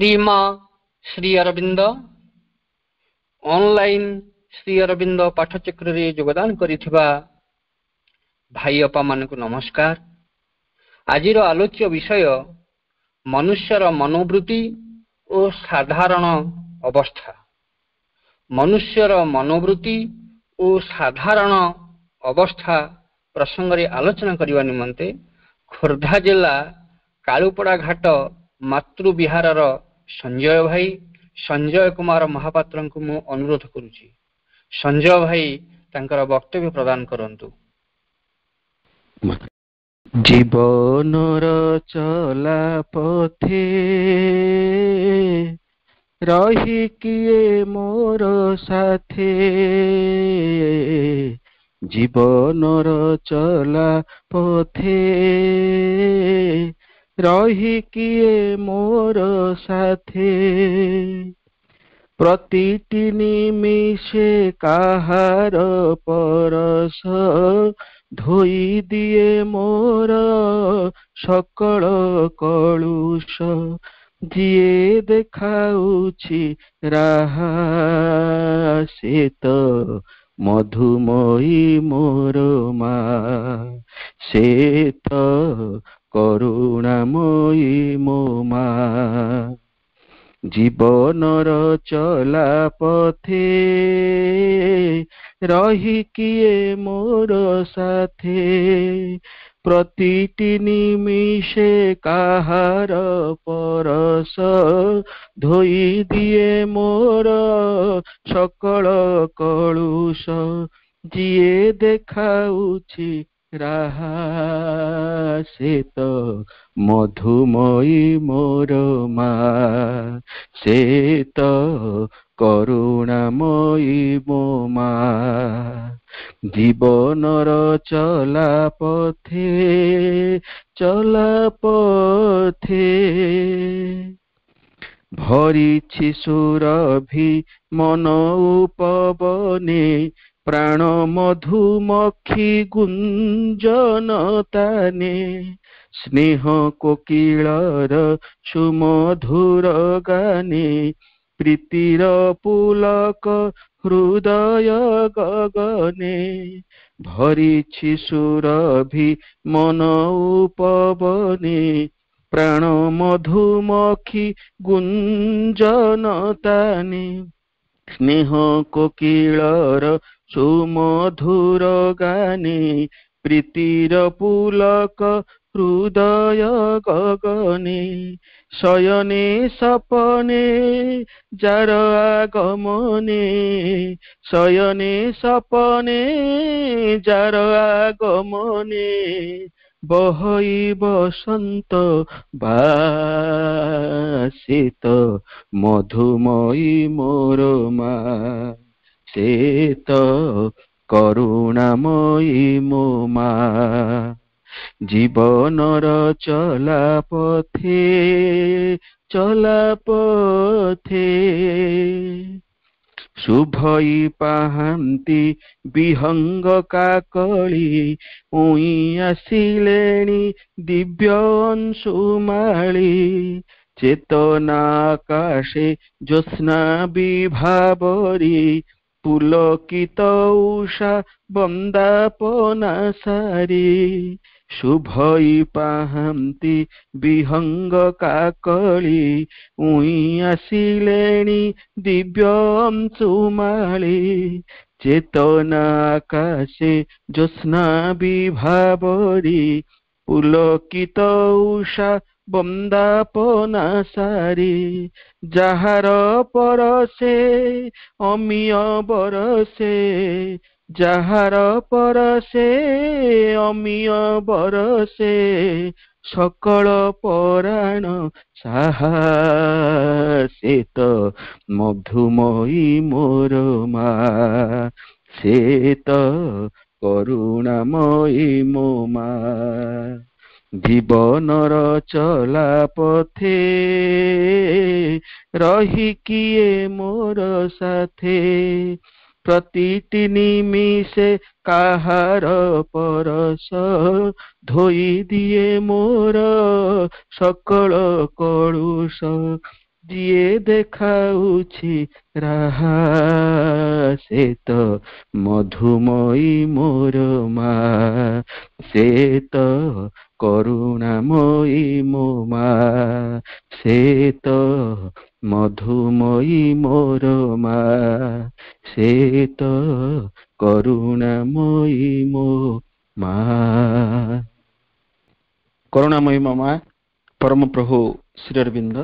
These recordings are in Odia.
ଶ୍ରୀମା ଶ୍ରୀ ଅରବିନ୍ଦ ଅନଲାଇନ ଶ୍ରୀ ଅରବିନ୍ଦ ପାଠଚକ୍ରରେ ଯୋଗଦାନ କରିଥିବା ଭାଇ ଅପାମାନଙ୍କୁ ନମସ୍କାର। ଆଜିର ଆଲୋଚ୍ୟ ବିଷୟ ମନୁଷ୍ୟର ମନୋବୃତ୍ତି ଓ ସାଧାରଣ ଅବସ୍ଥା। ମନୁଷ୍ୟର ମନୋବୃତ୍ତି ଓ ସାଧାରଣ ଅବସ୍ଥା ପ୍ରସଙ୍ଗରେ ଆଲୋଚନା କରିବା ନିମନ୍ତେ ଖୋର୍ଦ୍ଧା ଜିଲ୍ଲା କାଳୁପଡ଼ା ଘାଟ ମାତୃବିହାରର ସଞ୍ଜୟ ଭାଇ ସଞ୍ଜୟ କୁମାର ମହାପାତ୍ରଙ୍କୁ ମୁଁ ଅନୁରୋଧ କରୁଛି। ସଞ୍ଜୟ ଭାଇ ତାଙ୍କର ବକ୍ତବ୍ୟ ପ୍ରଦାନ କରନ୍ତୁ। ଜୀବନର ଚଲା ପଥେ ରହି କିଏ ମୋର ସାଥେ, ଜୀବନର ଚଲା ପଥେ ରହି କିଏ ମୋର ସାଥେ। ପ୍ରତିଟି ନିମିଷେ କାହାର ପରଶ ଧୋଇ ଦିଏ ମୋର ସକଳ କଳୁଷ, ଯିଏ ଦେଖାଉଛି ରାହା ସେ ତ ମଧୁମୟୀ ମୋର ମା, ସେ ତ କରୁଣାମୟୀ ମୋ ମା। ଜୀବନର ଚଲା ପଥେ ରହି କିଏ ମୋର ସାଥେ, ପ୍ରତିଟି ନିମିଷେ କାହାର ପରଶ ଧୋଇ ଦିଏ ମୋର ସକଳ କଳୁଷ, ଯିଏ ଦେଖାଉଛି ରାହା ସେ ତ ମଧୁମୟୀ ମୋର ମା, ସେ ତ କରୁଣାମୟୀ ମୋ ମା। ଜୀବନର ଚଲା ପଥେ, ଚଲା ପଥେ ଭରିଛି ସୁରଭି ମନ ଉପବନେ, ପ୍ରାଣ ମଧୁମକ୍ଷୀ ଗୁଞ୍ଜନ ତାନେ, ସ୍ନେହ କୋକିଳର ସୁମଧୁର ଗାନେ, ପ୍ରୀତିର ପୁଲକ ହୃଦୟ ଗଗନେ। ଭରିଛି ସୁରଭି ମନ ଉପବନେ, ପ୍ରାଣ ମଧୁମକ୍ଷୀ ଗୁଞ୍ଜନ ତାନେ, ସ୍ନେହ କୋକିଳର ସୁମଧୁର ଗାନେ, ପ୍ରୀତିର ପୁଲକ ହୃଦୟ ଗଗନେ। ଶୟନେ ସପନେ ଯାର ଆଗମନେ, ଶୟନେ ସପନେ ଯାର ଆଗମନେ, ବହଇ ବସନ୍ତ ବାସିତ ମଧୁମୟୀ ମୋର ମା, ସେ ତ କରୁଣାମୟୀ ମୋ ମା। ଜୀବନର ଚଲା ପଥେ, ଚଲା ପଥେ ଶୁଭଇ ପାହାନ୍ତି ବିହଙ୍ଗ କାକଳି, ଉଇଁ ଆସିଲେଣି ଦିବ୍ୟ ଅଂଶୁମାଳି, ଚେତନା ଆକାଶେ ଜ୍ୟୋତ୍ସ୍ନା ବିଭାବରୀ, ପୁଲକିତ ଉଷା ବନ୍ଦାପନା ସାରି। ଶୁଭଇ ପାହାନ୍ତି ବିହଙ୍ଗ କାକଳି, ଉଇଁ ଆସିଲେଣି ଦିବ୍ୟ ଅଂଶୁମାଳି, ଚେତନା ଆକାଶେ ଜ୍ୟୋତ୍ସ୍ନା ବିଭାବରୀ, ପୁଲକିତ ଉଷା ବନ୍ଦାପନା ସାରି। ଯାହାର ପରସେ ଅମିୟ ବରସେ, ଯାହାର ପରସେ ଅମିୟ ବରସେ, ସକଳ ପରାଣ ସାହା ସେ ତ ମଧୁମୟୀ ମୋର ମା, ସେ ତ କରୁଣାମୟୀ ମୋ ମା। ଜୀବନର ଚଲା ପଥେ ରହି କିଏ ମୋର ସାଥେ, ପ୍ରତିଟି ନିମିଷେ କାହାର ପରଶ ଧୋଇ ଦିଏ ମୋର ସକଳ କଳୁଷ, ଯିଏ ଦେଖାଉଛି ରାହା, ସେ ତ ମଧୁମୟୀ ମୋର ମା, ସେ ତ କରୁଣାମୟୀ ମୋ ମା, ସେ ତ ମଧୁମୟୀ ମୋର ମା, ସେ ତ କରୁଣାମୟୀ ମୋ ମା। କରୁଣାମୟୀ ମୋ ମା ପରମ ପ୍ରଭୁ ଶ୍ରୀ ଅରବିନ୍ଦ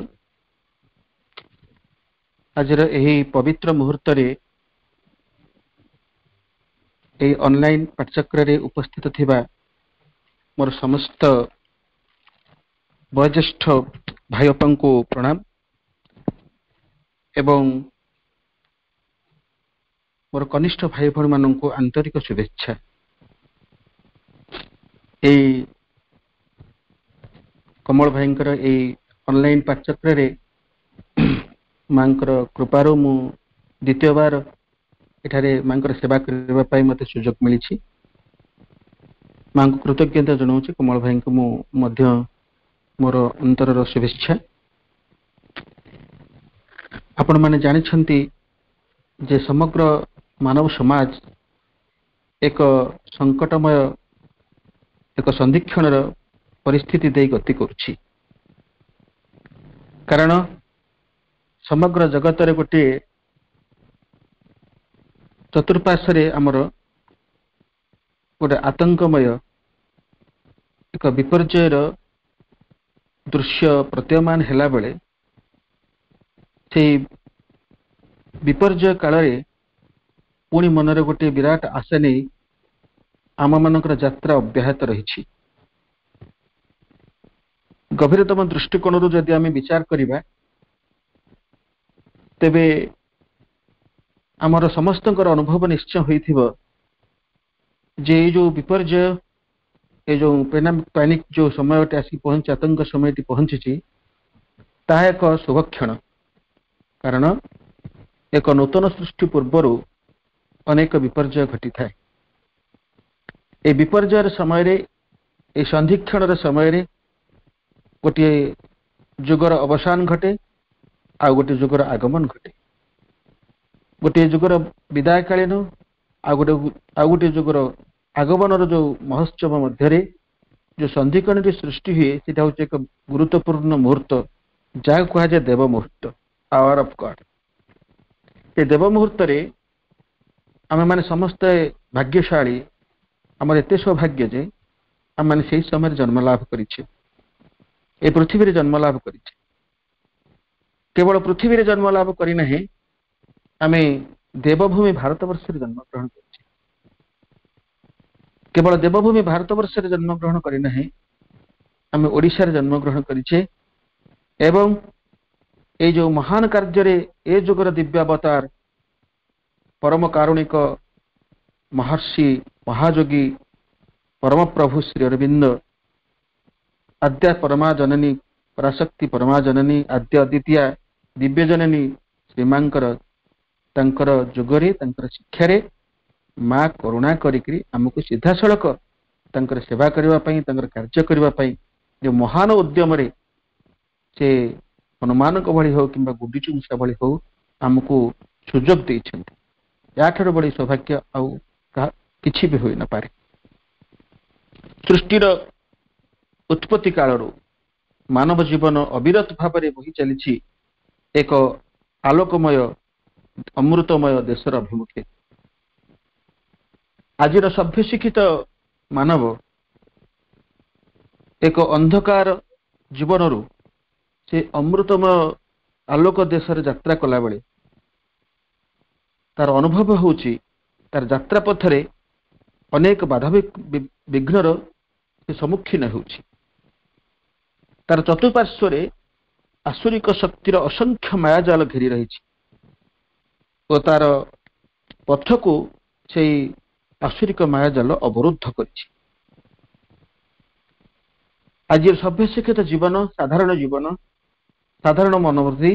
ଆଜିର ଏହି ପବିତ୍ର ମୁହୂର୍ତ୍ତରେ ଏହି ଅନଲାଇନ ପାଠଚକ୍ରରେ ଉପସ୍ଥିତ ଥିବା ମୋର ସମସ୍ତ ବୟୋଜ୍ୟେଷ୍ଠ ଭାଇ ଅପାଙ୍କୁ ପ୍ରଣାମ ଏବଂ ମୋର କନିଷ୍ଠ ଭାଇ ଭଉଣୀମାନଙ୍କୁ ଆନ୍ତରିକ ଶୁଭେଚ୍ଛା। ଏଇ କମଳ ଭାଇଙ୍କର ଏଇ ଅନଲାଇନ ପାଠଚକ୍ରରେ ମାଙ୍କର କୃପାରୁ ମୁଁ ଦ୍ୱିତୀୟବାର ଏଠାରେ ମାଙ୍କର ସେବା କରିବା ପାଇଁ ମୋତେ ସୁଯୋଗ ମିଳିଛି। ମାଙ୍କୁ କୃତଜ୍ଞତା ଜଣାଉଛି। କମଳ ଭାଇଙ୍କୁ ମୁଁ ମଧ୍ୟ ମୋର ଅନ୍ତରର ଶୁଭେଚ୍ଛା। ଆପଣମାନେ ଜାଣିଛନ୍ତି ଯେ ସମଗ୍ର ମାନବ ସମାଜ ଏକ ସଙ୍କଟମୟ ଏକ ସନ୍ଧିକ୍ଷଣର ପରିସ୍ଥିତି ଦେଇ ଗତି କରୁଛି। କାରଣ ସମଗ୍ର ଜଗତରେ ଗୋଟିଏ ଚତୁର୍ପାର୍ଶ୍ୱରେ ଆମର ଗୋଟେ ଆତଙ୍କମୟ ଏକ ବିପର୍ଯ୍ୟୟର ଦୃଶ୍ୟ ପ୍ରତୀୟମାନ ହେଲା ବେଳେ, ସେଇ ବିପର୍ଯ୍ୟୟ କାଳରେ ପୁଣି ମନରେ ଗୋଟିଏ ବିରାଟ ଆଶା ନେଇ ଆମମାନଙ୍କର ଯାତ୍ରା ଅବ୍ୟାହତ ରହିଛି। ଗଭୀରତମ ଦୃଷ୍ଟିକୋଣରୁ ଯଦି ଆମେ ବିଚାର କରିବା, ତେବେ ଆମର ସମସ୍ତଙ୍କର ଅନୁଭବ ନିଶ୍ଚୟ ହୋଇଥିବ ଯେ ଏଇ ଯୋଉ ବିପର୍ଯ୍ୟୟ, ଏ ଯୋଉ ପ୍ୟାନିକ ଯୋଉ ସମୟଟି ଆସିକି ପହଞ୍ଚି, ଆତଙ୍କ ସମୟଟି ପହଞ୍ଚିଛି, ତାହା ଏକ ଶୁଭକ୍ଷଣ। କାରଣ ଏକ ନୂତନ ସୃଷ୍ଟି ପୂର୍ବରୁ ଅନେକ ବିପର୍ଯ୍ୟୟ ଘଟିଥାଏ। এই ବିପର୍ଯ୍ୟୟର ସମୟରେ, এই ସନ୍ଧିକ୍ଷଣର ସମୟରେ ଗୋଟିଏ ଯୁଗର ଅବସାନ ଘଟେ ଆଉ ଗୋଟିଏ ଯୁଗର ଆଗମନ ଘଟେ। ଗୋଟିଏ ଯୁଗର ବିଦାୟକାଳୀନ ଆଉ ଗୋଟିଏ ଯୁଗର ଆଗମନର ଯୋଉ ମହୋତ୍ସବ ମଧ୍ୟରେ ଯୋଉ ସନ୍ଧିକ୍ଷଣଟି ସୃଷ୍ଟି ହୁଏ, ସେଟା ହଉଛି ଏକ ଗୁରୁତ୍ୱପୂର୍ଣ୍ଣ ମୁହୂର୍ତ୍ତ, ଯାହାକୁ କୁହାଯାଏ ଦେବ ମୁହୂର୍ତ୍ତ, ଆୱାର ଅଫ ଗଡ୍। ସେ ଦେବ ମୁହୂର୍ତ୍ତରେ ଆମେମାନେ ସମସ୍ତେ ଭାଗ୍ୟଶାଳୀ। ଆମର ଏତେ ସୌଭାଗ୍ୟ ଯେ ଆମେମାନେ ସେଇ ସମୟରେ ଜନ୍ମ ଲାଭ କରିଛେ, ଏ ପୃଥିବୀରେ ଜନ୍ମ ଲାଭ କରିଛେ। କେବଳ ପୃଥିବୀରେ ଜନ୍ମ ଲାଭ କରିନାହିଁ, ଆମେ ଦେବଭୂମି ଭାରତବର୍ଷରେ ଜନ୍ମଗ୍ରହଣ କରିଛେ। କେବଳ ଦେବଭୂମି ଭାରତବର୍ଷରେ ଜନ୍ମଗ୍ରହଣ କରିନାହିଁ, ଆମେ ଓଡ଼ିଶାରେ ଜନ୍ମଗ୍ରହଣ କରିଛେ। ଏବଂ ଏଇ ଯୋଉ ମହାନ କାର୍ଯ୍ୟରେ ଏ ଯୁଗର ଦିବ୍ୟାବତାର ପରମ କାରୁଣିକ ମହର୍ଷି ମହାଯୋଗୀ ପରମପ୍ରଭୁ ଶ୍ରୀ ଅରବିନ୍ଦ, ଆଦ୍ୟା ପରମା ଜନନୀ ପରାଶକ୍ତି ପରମା ଜନନୀ ଆଦ୍ୟ ଅଦ୍ୱିତୀୟା ଦିବ୍ୟ ଜନନୀ ଶ୍ରୀମାଙ୍କର ତାଙ୍କର ଯୁଗରେ ତାଙ୍କର ଶିକ୍ଷାରେ ମା କରୁଣା କରିକିରି ଆମକୁ ସିଧାସଳଖ ତାଙ୍କର ସେବା କରିବା ପାଇଁ, ତାଙ୍କର କାର୍ଯ୍ୟ କରିବା ପାଇଁ ଯୋଉ ମହାନ ଉଦ୍ୟମରେ ସେ ହନୁମାନଙ୍କ ଭଳି ହଉ କିମ୍ବା ଗୁଣ୍ଡୁଚି ମୂଷା ଭଳି ହଉ ଆମକୁ ସୁଯୋଗ ଦେଇଛନ୍ତି। ୟାଠାରୁ ବଳି ସୌଭାଗ୍ୟ ଆଉ କିଛି ବି ହୋଇନପାରେ। ସୃଷ୍ଟିର ଉତ୍ପତ୍ତି କାଳରୁ ମାନବ ଜୀବନ ଅବିରତ ଭାବରେ ବହି ଚାଲିଛି ଏକ ଆଲୋକମୟ ଅମୃତମୟ ଦେଶର ଅଭିମୁଖେ। ଆଜିର ସଭ୍ୟ ଶିକ୍ଷିତ ମାନବ ଏକ ଅନ୍ଧକାର ଜୀବନରୁ ସେ ଅମୃତମୟ ଆଲୋକ ଦେଶରେ ଯାତ୍ରା କଲାବେଳେ ତାର ଅନୁଭବ ହେଉଛି ତାର ଯାତ୍ରା ପଥରେ ଅନେକ ବାଧା ବିଘ୍ନର ସେ ସମ୍ମୁଖୀନ ହେଉଛି। ତାର ଚତୁଃପାର୍ଶ୍ୱରେ ଆସୁରିକ ଶକ୍ତିର ଅସଂଖ୍ୟ ମାୟାଜାଲ ଘେରି ରହିଛି ଓ ତାର ପଥକୁ ସେଇ ଆସୁରିକ ମାୟାଜାଲ ଅବରୁଦ୍ଧ କରିଛି। ଆଜିର ସଭ୍ୟ ଶିକ୍ଷିତ ଜୀବନ, ସାଧାରଣ ଜୀବନ, ସାଧାରଣ ମନୋବୃଦ୍ଧି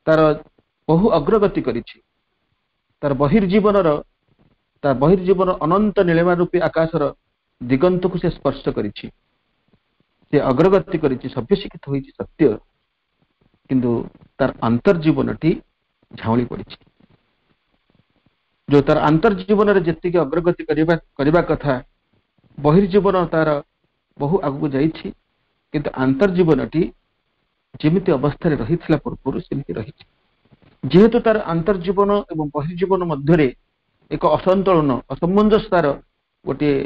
ତାର ବହୁ ଅଗ୍ରଗତି କରିଛି। ତାର ବହିର୍ଜୀବନର ତା ବହିର୍ଜୀବନ ଅନନ୍ତ ନୀଳିମା ରୂପୀ ଆକାଶର ଦିଗନ୍ତକୁ ସେ ସ୍ପର୍ଶ କରିଛି। ସେ ଅଗ୍ରଗତି କରିଛି, ସଭ୍ୟ ଶିକ୍ଷିତ ହୋଇଛି ସତ୍ୟ, କିନ୍ତୁ ତାର ଅନ୍ତର୍ଜୀବନଟି ଝାଉଁଳି ପଡ଼ିଛି। ଯୋଉ ତାର ଅନ୍ତର୍ଜୀବନରେ ଯେତିକି ଅଗ୍ରଗତି କରିବା କରିବା କଥା, ବହିର୍ଜୀବନ ତାର ବହୁ ଆଗକୁ ଯାଇଛି, କିନ୍ତୁ ଅନ୍ତର୍ଜୀବନଟି ଯେମିତି ଅବସ୍ଥାରେ ରହିଥିଲା ପୂର୍ବରୁ ସେମିତି ରହିଛି। ଯେହେତୁ ତାର ଅନ୍ତର୍ଜୀବନ ଏବଂ ବହିର୍ଜୀବନ ମଧ୍ୟରେ ଏକ ଅସନ୍ତୁଳନ, ଅସାମଞ୍ଜସ୍ୟତାର ଗୋଟିଏ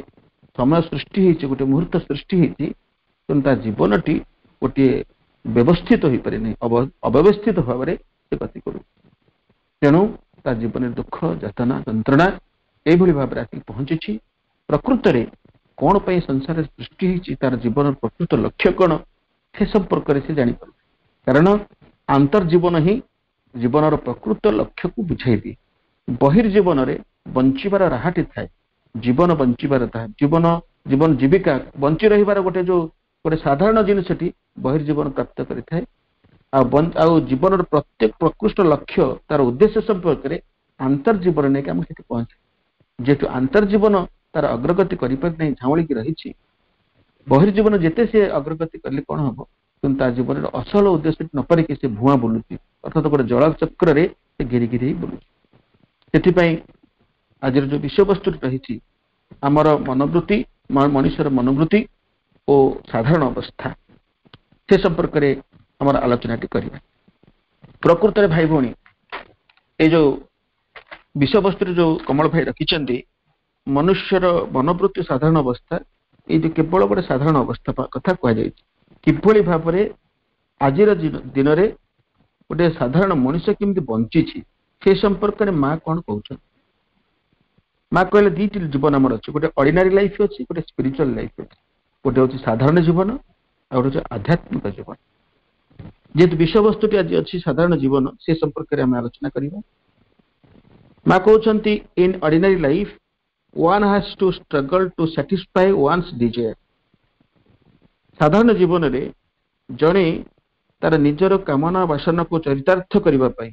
ସମୟ ସୃଷ୍ଟି ହେଇଛି, ଗୋଟିଏ ମୁହୂର୍ତ୍ତ ସୃଷ୍ଟି ହେଇଛି, ତେଣୁ ତା ଜୀବନଟି ଗୋଟିଏ ବ୍ୟବସ୍ଥିତ ହୋଇପାରେନି, ଅବ୍ୟବସ୍ଥିତ ଭାବରେ ସେ ଗତି କରୁଛି। ତେଣୁ ତା ଜୀବନରେ ଦୁଃଖ, ଯାତନା, ଯନ୍ତ୍ରଣା ଏଇଭଳି ଭାବରେ ଆସିକି ପହଞ୍ଚିଛି। ପ୍ରକୃତରେ କଣ ପାଇଁ ସଂସାରରେ ସୃଷ୍ଟି ହେଇଛି, ତାର ଜୀବନର ପ୍ରକୃତ ଲକ୍ଷ୍ୟ କଣ, ସେ ସମ୍ପର୍କରେ ସେ ଜାଣିପାରୁନି। କାରଣ ଅନ୍ତର୍ଜୀବନ ହିଁ ଜୀବନର ପ୍ରକୃତ ଲକ୍ଷ୍ୟକୁ ବୁଝାଇ ଦିଏ। ବହିର୍ଜୀବନରେ ବଞ୍ଚିବାର ରାହାଟି ଥାଏ, ଜୀବନ ବଞ୍ଚିବାର ତାହା ଜୀବନ ଜୀବନ ଜୀବିକା ବଞ୍ଚି ରହିବାର ଗୋଟେ ଯୋଉ ଗୋଟେ ସାଧାରଣ ଜିନିଷଟି ବହିର୍ଜୀବନ ପ୍ରାପ୍ତ କରିଥାଏ। ଆଉ ଜୀବନର ପ୍ରତ୍ୟେକ ପ୍ରକୃଷ୍ଟ ଲକ୍ଷ୍ୟ, ତାର ଉଦ୍ଦେଶ୍ୟ ସମ୍ପର୍କରେ ଅନ୍ତର୍ଜୀବନ ନେଇକି ଆମକୁ ସେଠି ପହଞ୍ଚେ। ଯେହେତୁ ଅନ୍ତର୍ଜୀବନ ତାର ଅଗ୍ରଗତି କରିପାରି ନାହିଁ, ଝାଉଁଳିକି ରହିଛି, ବହିର୍ଜୀବନ ଯେତେ ସେ ଅଗ୍ରଗତି କଲେ କଣ ହବ, କିନ୍ତୁ ତା ଜୀବନର ଅସଲ ଉଦ୍ଦେଶ୍ୟ ନ ପାରିକି ସେ ଭୁଆଁ ବୁଲୁଛି, ଅର୍ଥାତ ଗୋଟେ ଜଳଚକ୍ରରେ ସେ ଘେରି ଘେରି ହେଇ ବୁଲୁଛି। ସେଥିପାଇଁ ଆଜିର ଯୋଉ ବିଷୟବସ୍ତୁଟି ରହିଛି ଆମର ମନୋବୃତ୍ତି, ମଣିଷର ମନୋବୃତ୍ତି ଓ ସାଧାରଣ ଅବସ୍ଥା, ସେ ସମ୍ପର୍କରେ ଆମର ଆଲୋଚନାଟି କରିବା। ପ୍ରକୃତରେ ଭାଇ ଭଉଣୀ, ଏଇ ଯୋଉ ବିଷୟବସ୍ତୁରେ ଯୋଉ କମଳ ଭାଇ ରଖିଛନ୍ତି ମନୁଷ୍ୟର ମନୋବୃତ୍ତି ସାଧାରଣ ଅବସ୍ଥା, ଏଇ ଯୋଉ କେବଳ ଗୋଟେ ସାଧାରଣ ଅବସ୍ଥା କଥା କୁହାଯାଇଛି, କିଭଳି ଭାବରେ ଆଜିର ଦିନରେ ଗୋଟେ ସାଧାରଣ ମଣିଷ କେମିତି ବଞ୍ଚିଛି ସେ ସମ୍ପର୍କରେ ମା କଣ କହୁଛନ୍ତି। ମା କହିଲେ ଦିଟି ଜୀବନ ଆମର ଅଛି, ଗୋଟେ ଅର୍ଡିନାରୀ ଲାଇଫ ଅଛି, ଗୋଟେ ସ୍ପିରିଚୁଆଲ ଲାଇଫ ଅଛି। ଗୋଟେ ହଉଛି ସାଧାରଣ ଜୀବନ, ଆଉ ଗୋଟେ ହଉଛି ଆଧ୍ୟାତ୍ମିକ ଜୀବନ। ଯେହେତୁ ବିଷୟବସ୍ତୁଟି ଆଜି ଅଛି ସାଧାରଣ ଜୀବନ, ସେ ସମ୍ପର୍କରେ ଆମେ ଆଲୋଚନା କରିବା। ମା କହୁଛନ୍ତି, in ordinary life one has to struggle to satisfy one's desire। ସାଧାରଣ ଜୀବନରେ ଜଣେ ତାର ନିଜର କାମନା ବାସନାକୁ ଚରିତାର୍ଥ କରିବା ପାଇଁ,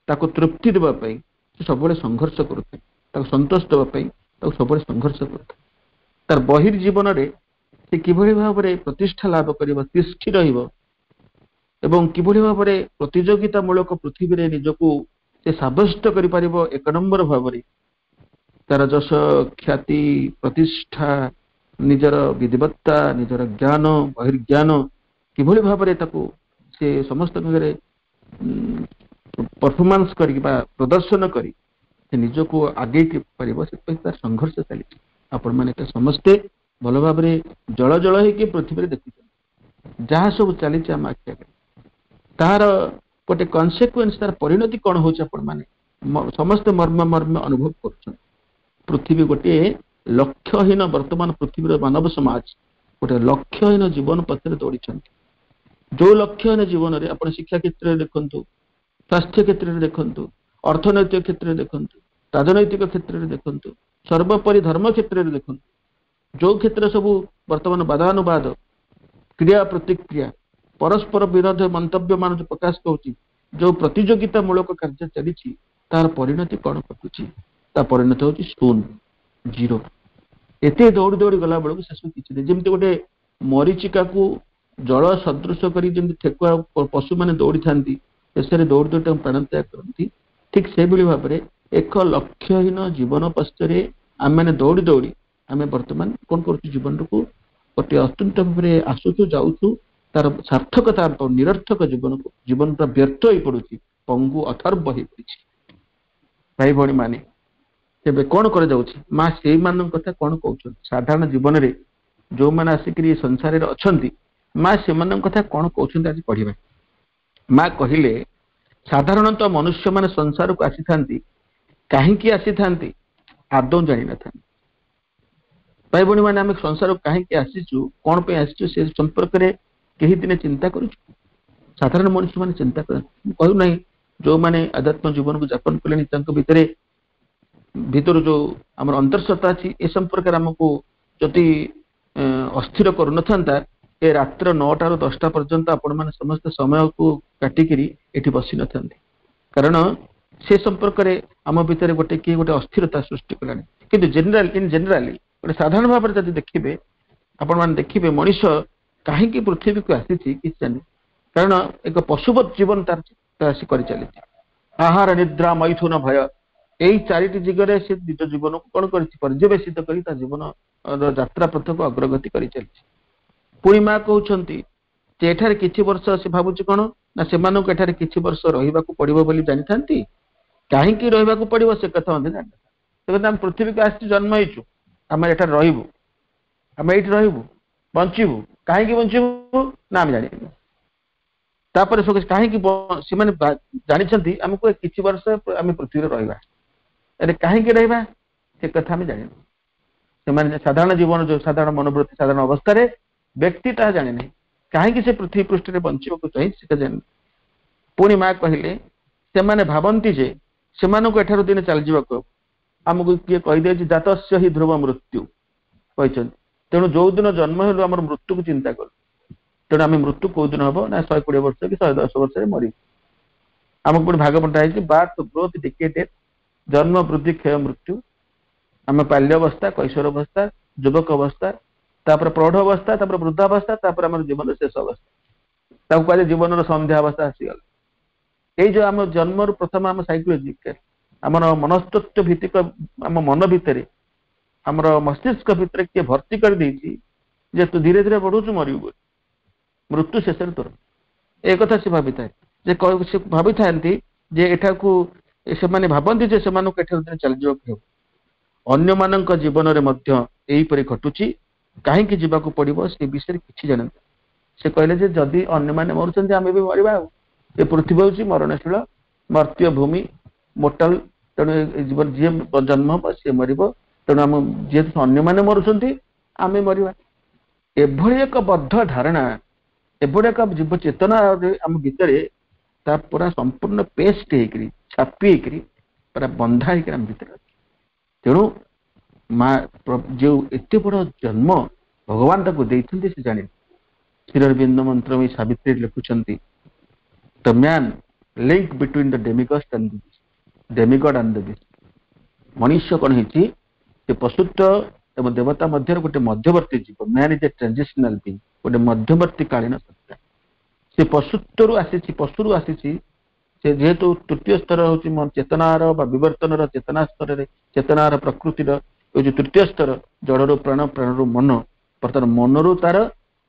ତାକୁ ତୃପ୍ତି ଦେବା ପାଇଁ ସେ ସବୁବେଳେ ସଂଘର୍ଷ କରୁଥାଏ, ତାକୁ ସନ୍ତୋଷ ଦେବା ପାଇଁ ତାକୁ ସବୁବେଳେ ସଂଘର୍ଷ କରୁଥାଏ। ତାର ବହିର୍ଜୀବନରେ ସେ କିଭଳି ଭାବରେ ପ୍ରତିଷ୍ଠା ଲାଭ କରିବ, ତିଷ୍ଠି ରହିବ ଏବଂ କିଭଳି ଭାବରେ ପ୍ରତିଯୋଗିତାମୂଳକ ପୃଥିବୀରେ ନିଜକୁ ସେ ସାବ୍ୟସ୍ତ କରିପାରିବ ଏକ ନମ୍ବର ଭାବରେ, ତାର ଯଶ, ଖ୍ୟାତି, ପ୍ରତିଷ୍ଠା, ନିଜର ବିଧିବତ୍ତା, ନିଜର ଜ୍ଞାନ, ବହିର୍ଜ୍ଞାନ କିଭଳି ଭାବରେ ତାକୁ ସେ ସମସ୍ତଙ୍କ ଆଗରେ ପରଫର୍ମାନ୍ସ କରିକି ବା ପ୍ରଦର୍ଶନ କରି ସେ ନିଜକୁ ଆଗେଇ ପାରିବ, ସେଥିପାଇଁ ତାର ସଂଘର୍ଷ ଚାଲିଛି। ଆପଣମାନେ ତ ସମସ୍ତେ ଭଲ ଭାବରେ ଜଳ ଜଳ ହେଇକି ପୃଥିବୀରେ ଦେଖୁଛନ୍ତି ଯାହା ସବୁ ଚାଲିଛି ଆମ ଆଖି ଆଗରେ, ତାହାର ଗୋଟେ କନସିକ୍ୱେନ୍ସ, ତାର ପରିଣତି କଣ ହଉଛି ଆପଣମାନେ ସମସ୍ତେ ମର୍ମ ମର୍ମ ଅନୁଭବ କରୁଛନ୍ତି। ପୃଥିବୀ ଗୋଟିଏ ଲକ୍ଷ୍ୟହୀନ, ବର୍ତ୍ତମାନ ପୃଥିବୀର ମାନବ ସମାଜ ଗୋଟେ ଲକ୍ଷ୍ୟହୀନ ଜୀବନ ପଥରେ ଦୌଡ଼ିଛନ୍ତି। ଯୋଉ ଲକ୍ଷ୍ୟହୀନ ଜୀବନରେ ଆପଣ ଶିକ୍ଷା କ୍ଷେତ୍ରରେ ଦେଖନ୍ତୁ, ସ୍ୱାସ୍ଥ୍ୟ କ୍ଷେତ୍ରରେ ଦେଖନ୍ତୁ, ଅର୍ଥନୈତିକ କ୍ଷେତ୍ରରେ ଦେଖନ୍ତୁ, ରାଜନୈତିକ କ୍ଷେତ୍ରରେ ଦେଖନ୍ତୁ, ସର୍ବୋପରି ଧର୍ମ କ୍ଷେତ୍ରରେ ଦେଖନ୍ତୁ, ଯୋଉ କ୍ଷେତ୍ର ସବୁ ବର୍ତ୍ତମାନ ବାଦାନୁବାଦ, କ୍ରିୟା ପ୍ରତିକ୍ରିୟା, ପରସ୍ପର ବିରୋଧ ମନ୍ତବ୍ୟ ମାନ ଯୋଉ ପ୍ରକାଶ ପାଉଛି, ଯୋଉ ପ୍ରତିଯୋଗିତା ମୂଳକ କାର୍ଯ୍ୟ ଚାଲିଛି, ତାର ପରିଣତି କଣ ଘଟୁଛି? ତା ପରିଣତି ହଉଛି ଶୂନ, ଜିରୋ। ଏତେ ଦୌଡ଼ି ଦୌଡ଼ି ଗଲା ବେଳକୁ ସେସବୁ କିଛି ନାହିଁ। ଯେମିତି ଗୋଟେ ମରିଚିକାକୁ ଜଳ ସଦୃଶ କରି ଯେମିତି ଠେକୁଆ ପଶୁମାନେ ଦୌଡ଼ିଥାନ୍ତି, ଶେଷରେ ଦୌଡ଼ି ଦୌଡ଼ି ତାଙ୍କୁ ପ୍ରାଣତ୍ୟାଗ କରନ୍ତି, ଠିକ ସେଇଭଳି ଭାବରେ ଏକ ଲକ୍ଷ୍ୟହୀନ ଜୀବନ ପଛରେ ଆମେମାନେ ଦୌଡ଼ି ଦୌଡ଼ି ଆମେ ବର୍ତ୍ତମାନ କଣ କରୁଛୁ, ଜୀବନକୁ ଗୋଟିଏ ଅତ୍ୟନ୍ତ ଭାବରେ ଆସୁଛୁ ଯାଉଛୁ, ତାର ସାର୍ଥକତା ନିରର୍ଥକ ଜୀବନକୁ, ଜୀବନ ପୁରା ବ୍ୟର୍ଥ ହେଇ ପଡୁଛି, ପଙ୍ଗୁ ଅଥର୍ବ ହେଇ ପଡିଛି। ଭାଇ ଭଉଣୀ ମାନେ, ତେବେ କଣ କରାଯାଉଛି? ମା ସେଇମାନଙ୍କ କଥା କଣ କହୁଛନ୍ତି? ସାଧାରଣ ଜୀବନରେ ଯୋଉମାନେ ଆସିକିରି ସଂସାରରେ ଅଛନ୍ତି, ମା ସେମାନଙ୍କ କଥା କଣ କହୁଛନ୍ତି ଆଜି ପଢିବା। ମା କହିଲେ, ସାଧାରଣତଃ ମନୁଷ୍ୟମାନେ ସଂସାରକୁ ଆସିଥାନ୍ତି, କାହିଁକି ଆସିଥାନ୍ତି ଆଦୌ ଜାଣିନଥାନ୍ତି। ଭାଇ ଭଉଣୀ ମାନେ, ଆମେ ସଂସାରକୁ କାହିଁକି ଆସିଛୁ, କଣ ପାଇଁ ଆସିଛୁ, ସେ ସମ୍ପର୍କରେ କେହି ଦିନେ ଚିନ୍ତା କରୁଛୁ? ସାଧାରଣ ମଣିଷ ମାନେ ଚିନ୍ତା କରନ୍ତି। ମୁଁ କହୁନାହିଁ ଯୋଉମାନେ ଆଧ୍ୟାତ୍ମ ଜୀବନକୁ ଯାପନ କଲେଣି ତାଙ୍କ ଭିତରେ ଭିତରୁ ଯୋଉ ଆମର ଅନ୍ତର୍ସତ୍ତା ଅଛି ଏ ସମ୍ପର୍କରେ ଆମକୁ ଯଦି ଅସ୍ଥିର କରୁନଥାନ୍ତା, ଏ ରାତ୍ର 9ଟାରୁ 10ଟା ପର୍ଯ୍ୟନ୍ତ ଆପଣମାନେ ସମସ୍ତେ ସମୟକୁ କାଟିକିରି ଏଠି ବସି ନଥାନ୍ତେ। କାରଣ ସେ ସମ୍ପର୍କରେ ଆମ ଭିତରେ ଗୋଟେ କିଏ ଗୋଟେ ଅସ୍ଥିରତା ସୃଷ୍ଟି କଲାଣି। କିନ୍ତୁ ଇନ ଜେନେରାଲି ଗୋଟେ ସାଧାରଣ ଭାବରେ ଯଦି ଦେଖିବେ, ଆପଣମାନେ ଦେଖିବେ ମଣିଷ କାହିଁକି ପୃଥିବୀକୁ ଆସିଛି କିଛି ଜାଣିନି। କାରଣ ଏକ ପଶୁବତ ଜୀବନ ତାର ସେ କରିଚାଲିଛି। ଆହାର, ନିଦ୍ରା, ମୈଥୁନ, ଭୟ, ଏଇ ଚାରିଟି ଦିଗରେ ସେ ନିଜ ଜୀବନକୁ କଣ କରିଛି? ପର୍ଯ୍ୟବେସିତ କରି ତା ଜୀବନ ଯାତ୍ରା ପଥକୁ ଅଗ୍ରଗତି କରିଚାଲିଛି। ପୁଣି ମା କହୁଛନ୍ତି ଯେ ଏଠାରେ କିଛି ବର୍ଷ ସେ ଭାବୁଛି କଣ ନା ସେମାନଙ୍କୁ ଏଠାରେ କିଛି ବର୍ଷ ରହିବାକୁ ପଡିବ ବୋଲି ଜାଣିଥାନ୍ତି, କାହିଁକି ରହିବାକୁ ପଡିବ ସେ କଥା ମଧ୍ୟ ଜାଣିନଥାନ୍ତି। ସେ କଥା, ଆମେ ପୃଥିବୀକୁ ଆସିଛୁ, ଜନ୍ମ ହେଇଛୁ, ଆମେ ଏଠାରେ ରହିବୁ, ଆମେ ଏଇଠି ରହିବୁ, ବଞ୍ଚିବୁ। କାହିଁକି ବଞ୍ଚିବୁ ନା ଆମେ ଜାଣିନୁ। ତାପରେ କାହିଁକି ସେମାନେ ଜାଣିଛନ୍ତି ଆମକୁ କିଛି ବର୍ଷ ଆମେ ପୃଥିବୀରେ ରହିବା, ହେଲେ କାହିଁକି ରହିବା ସେ କଥା ଆମେ ଜାଣିନୁ। ସେମାନେ ସାଧାରଣ ଜୀବନ, ଯୋଉ ସାଧାରଣ ମନୋବୃତ୍ତି, ସାଧାରଣ ଅବସ୍ଥାରେ ବ୍ୟକ୍ତି ତାହା ଜାଣେ ନାହିଁ କାହିଁକି ସେ ପୃଥିବୀ ପୃଷ୍ଠରେ ବଞ୍ଚିବାକୁ ଚାହିଁ, ସେଟା ଜାଣିନି। ପୁଣି ମା କହିଲେ, ସେମାନେ ଭାବନ୍ତି ଯେ ସେମାନଙ୍କୁ ଏଠାରୁ ଦିନେ ଚାଲିଯିବାକୁ ହେବ। ଆମକୁ କିଏ କହିଦେଇଛି, ଜାତସ୍ୟ ହି ଧ୍ରୁବ ମୃତ୍ୟୁ କହିଛନ୍ତି। ତେଣୁ ଯୋଉ ଦିନ ଜନ୍ମ ହେଲୁ ଆମର ମୃତ୍ୟୁକୁ ଚିନ୍ତା କଲୁ। ତେଣୁ ଆମେ ମୃତ୍ୟୁ କୋଉ ଦିନ ହବ ନା 120 ବର୍ଷ କି 110 ବର୍ଷରେ ମରିବୁ। ଆମକୁ ପୁଣି ଭାଗ ବଣ୍ଟା ହେଇଛି, ବାର୍ଥ, ଗ୍ରୋଥ, ଡିକେ, ଡେଥ୍, ଜନ୍ମ, ବୃଦ୍ଧି, କ୍ଷୟ, ମୃତ୍ୟୁ। ଆମେ ବାଲ୍ୟ ଅବସ୍ଥା, କୈଶୋର ଅବସ୍ଥା, ଯୁବକ ଅବସ୍ଥା, ତାପରେ ପ୍ରୌଢ ଅବସ୍ଥା, ତାପରେ ବୃଦ୍ଧାବସ୍ଥା, ତାପରେ ଆମର ଜୀବନର ଶେଷ ଅବସ୍ଥା, ତାକୁ କୁହାଯାଏ ଜୀବନର ସନ୍ଧ୍ୟା ଅବସ୍ଥା ଆସିଗଲା। ଏଇ ଯୋଉ ଆମ ଜନ୍ମରୁ ପ୍ରଥମ ଆମ ସାଇକୋଲୋଜିକାଲ, ଆମର ମନସ୍ତତ୍ଵ ଭିତ୍ତିକ, ଆମ ମନ ଭିତରେ, ଆମର ମସ୍ତିଷ୍କ ଭିତରେ କିଏ ଭର୍ତ୍ତି କରିଦେଇଛି ଯେ ତୁ ଧୀରେ ଧୀରେ ବଢୁଛୁ, ମରିବୁ ବୋଲି, ମୃତ୍ୟୁ ଶେଷରେ ତୋର। ଏ କଥା ସେ ଭାବିଥାଏ ଯେ, ସେ ଭାବିଥାନ୍ତି ଯେ ଏଠାକୁ, ସେମାନେ ଭାବନ୍ତି ଯେ ସେମାନଙ୍କୁ ଏଠାରୁ ଦିନେ ଚାଲିଯିବାକୁ ହେବ। ଅନ୍ୟମାନଙ୍କ ଜୀବନରେ ମଧ୍ୟ ଏହିପରି ଘଟୁଛି, କାହିଁକି ଯିବାକୁ ପଡିବ ସେ ବିଷୟରେ କିଛି ଜାଣନ୍ତି। ସେ କହିଲେ ଯେ ଯଦି ଅନ୍ୟମାନେ ମରୁଛନ୍ତି, ଆମେ ବି ମରିବା। ଆଉ ଏ ପୃଥିବୀ ହଉଛି ମରଣଶୀଳ ମର୍ତ୍ତ୍ୟ ଭୂମି, ମୋର୍ଟାଲ। ତେଣୁ ଜୀବନ, ଯିଏ ଜନ୍ମ ହବ ସିଏ ମରିବ। ତେଣୁ ଆମ ଯେହେତୁ ଅନ୍ୟମାନେ ମରୁଛନ୍ତି, ଆମେ ମରିବା। ଏଭଳି ଏକ ବଦ୍ଧ ଧାରଣା, ଏଭଳି ଏକ ଜୀବ ଚେତନା ଆମ ଭିତରେ ତା ପୁରା ସମ୍ପୂର୍ଣ୍ଣ ପେଷ୍ଟ ହେଇକରି, ଛାପି ହେଇକରି, ପୁରା ବନ୍ଧା ହେଇକରି ଆମ ଭିତରେ ଅଛି। ତେଣୁ ମା ଯୋଉ ଏତେ ବଡ ଜନ୍ମ ଭଗବାନ ତାକୁ ଦେଇଛନ୍ତି ସେ ଜାଣିନି। ଶ୍ରୀଅରବିନ୍ଦ ମନ୍ତ୍ରମୟୀ ସାବିତ୍ରୀ ଲେଖୁଛନ୍ତି, the man, link between the demigod and demigod and the beast। ମଣିଷ କଣ ହେଇଛି? ସେ ପଶୁତ୍ୱ ଏବଂ ଦେବତା ମଧ୍ୟରେ ଗୋଟେ ମଧ୍ୟବର୍ତ୍ତୀ ଜୀବ। Man is a transitional being, ଗୋଟେ ମଧ୍ୟବର୍ତ୍ତୀ କାଳୀନ ସତ୍ତା। ସେ ପଶୁତ୍ୱରୁ ଆସିଛି, ପଶୁରୁ ଆସିଛି। ସେ ଯେହେତୁ ତୃତୀୟ ସ୍ତର ହଉଛି ଚେତନାର ବା ବିବର୍ତ୍ତନର, ଚେତନା ସ୍ତରରେ, ଚେତନାର ପ୍ରକୃତିର ହେଉଛି ତୃତୀୟ ସ୍ତର। ଜଡ଼ରୁ ପ୍ରାଣ, ପ୍ରାଣରୁ ମନ। ବର୍ତ୍ତମାନ ମନରୁ ତାର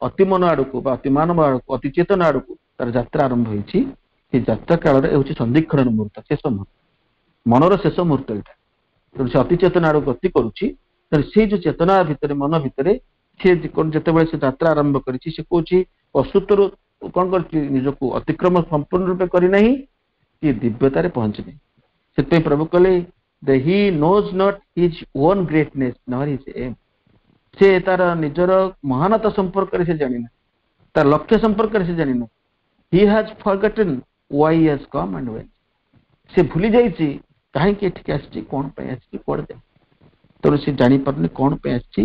ଅତିମନ ଆଡକୁ ବା ଅତିମାନବ ଆଡକୁ, ଅତି ଚେତନା ଆଡକୁ ତାର ଯାତ୍ରା ଆରମ୍ଭ ହେଇଛି। ସେ ଯାତ୍ରା କାଳରେ ହେଉଛି ସନ୍ଧିକ୍ଷଣର ମୁହୂର୍ତ୍ତ, ଶେଷ ମୁହୂର୍ତ୍ତ, ମନର ଶେଷ ମୁହୂର୍ତ୍ତ ଏଇଟା। ତେଣୁ ସେ ଅତି ଚେତନା ଆଡକୁ ଗତି କରୁଛି। ତେଣୁ ସେଇ ଯୋଉ ଚେତନା ଭିତରେ, ମନ ଭିତରେ ସେ ଯେତେବେଳେ ସେ ଯାତ୍ରା ଆରମ୍ଭ କରିଛି, ସେ କହୁଛି ପଶୁତ୍ୱରୁ କଣ କରିଛି, ନିଜକୁ ଅତିକ୍ରମ ସମ୍ପୂର୍ଣ୍ଣ ରୂପେ କରିନାହିଁ କି ଦିବ୍ୟତାରେ ପହଞ୍ଚିନି। ସେଥିପାଇଁ ପ୍ରଭୁ କହିଲେ, the he knows not his own greatness nor his aim। ସେ ତାର ନିଜର ମହାନତା ସମ୍ପର୍କରେ ସେ ଜାଣିନା, ତାର ଲକ୍ଷ୍ୟ ସମ୍ପର୍କରେ ସେ ଜାଣିନା। He has forgotten why he has come and when। ସେ ଭୁଲି ଯାଇଛି କାହିଁକି ଏଠିକି ଆସିଛି, କଣ ପାଇଁ ଆସିଛି, କୁଆଡେ ଯାଏ। ତେଣୁ ସେ ଜାଣିପାରୁନି କଣ ପାଇଁ ଆସିଛି,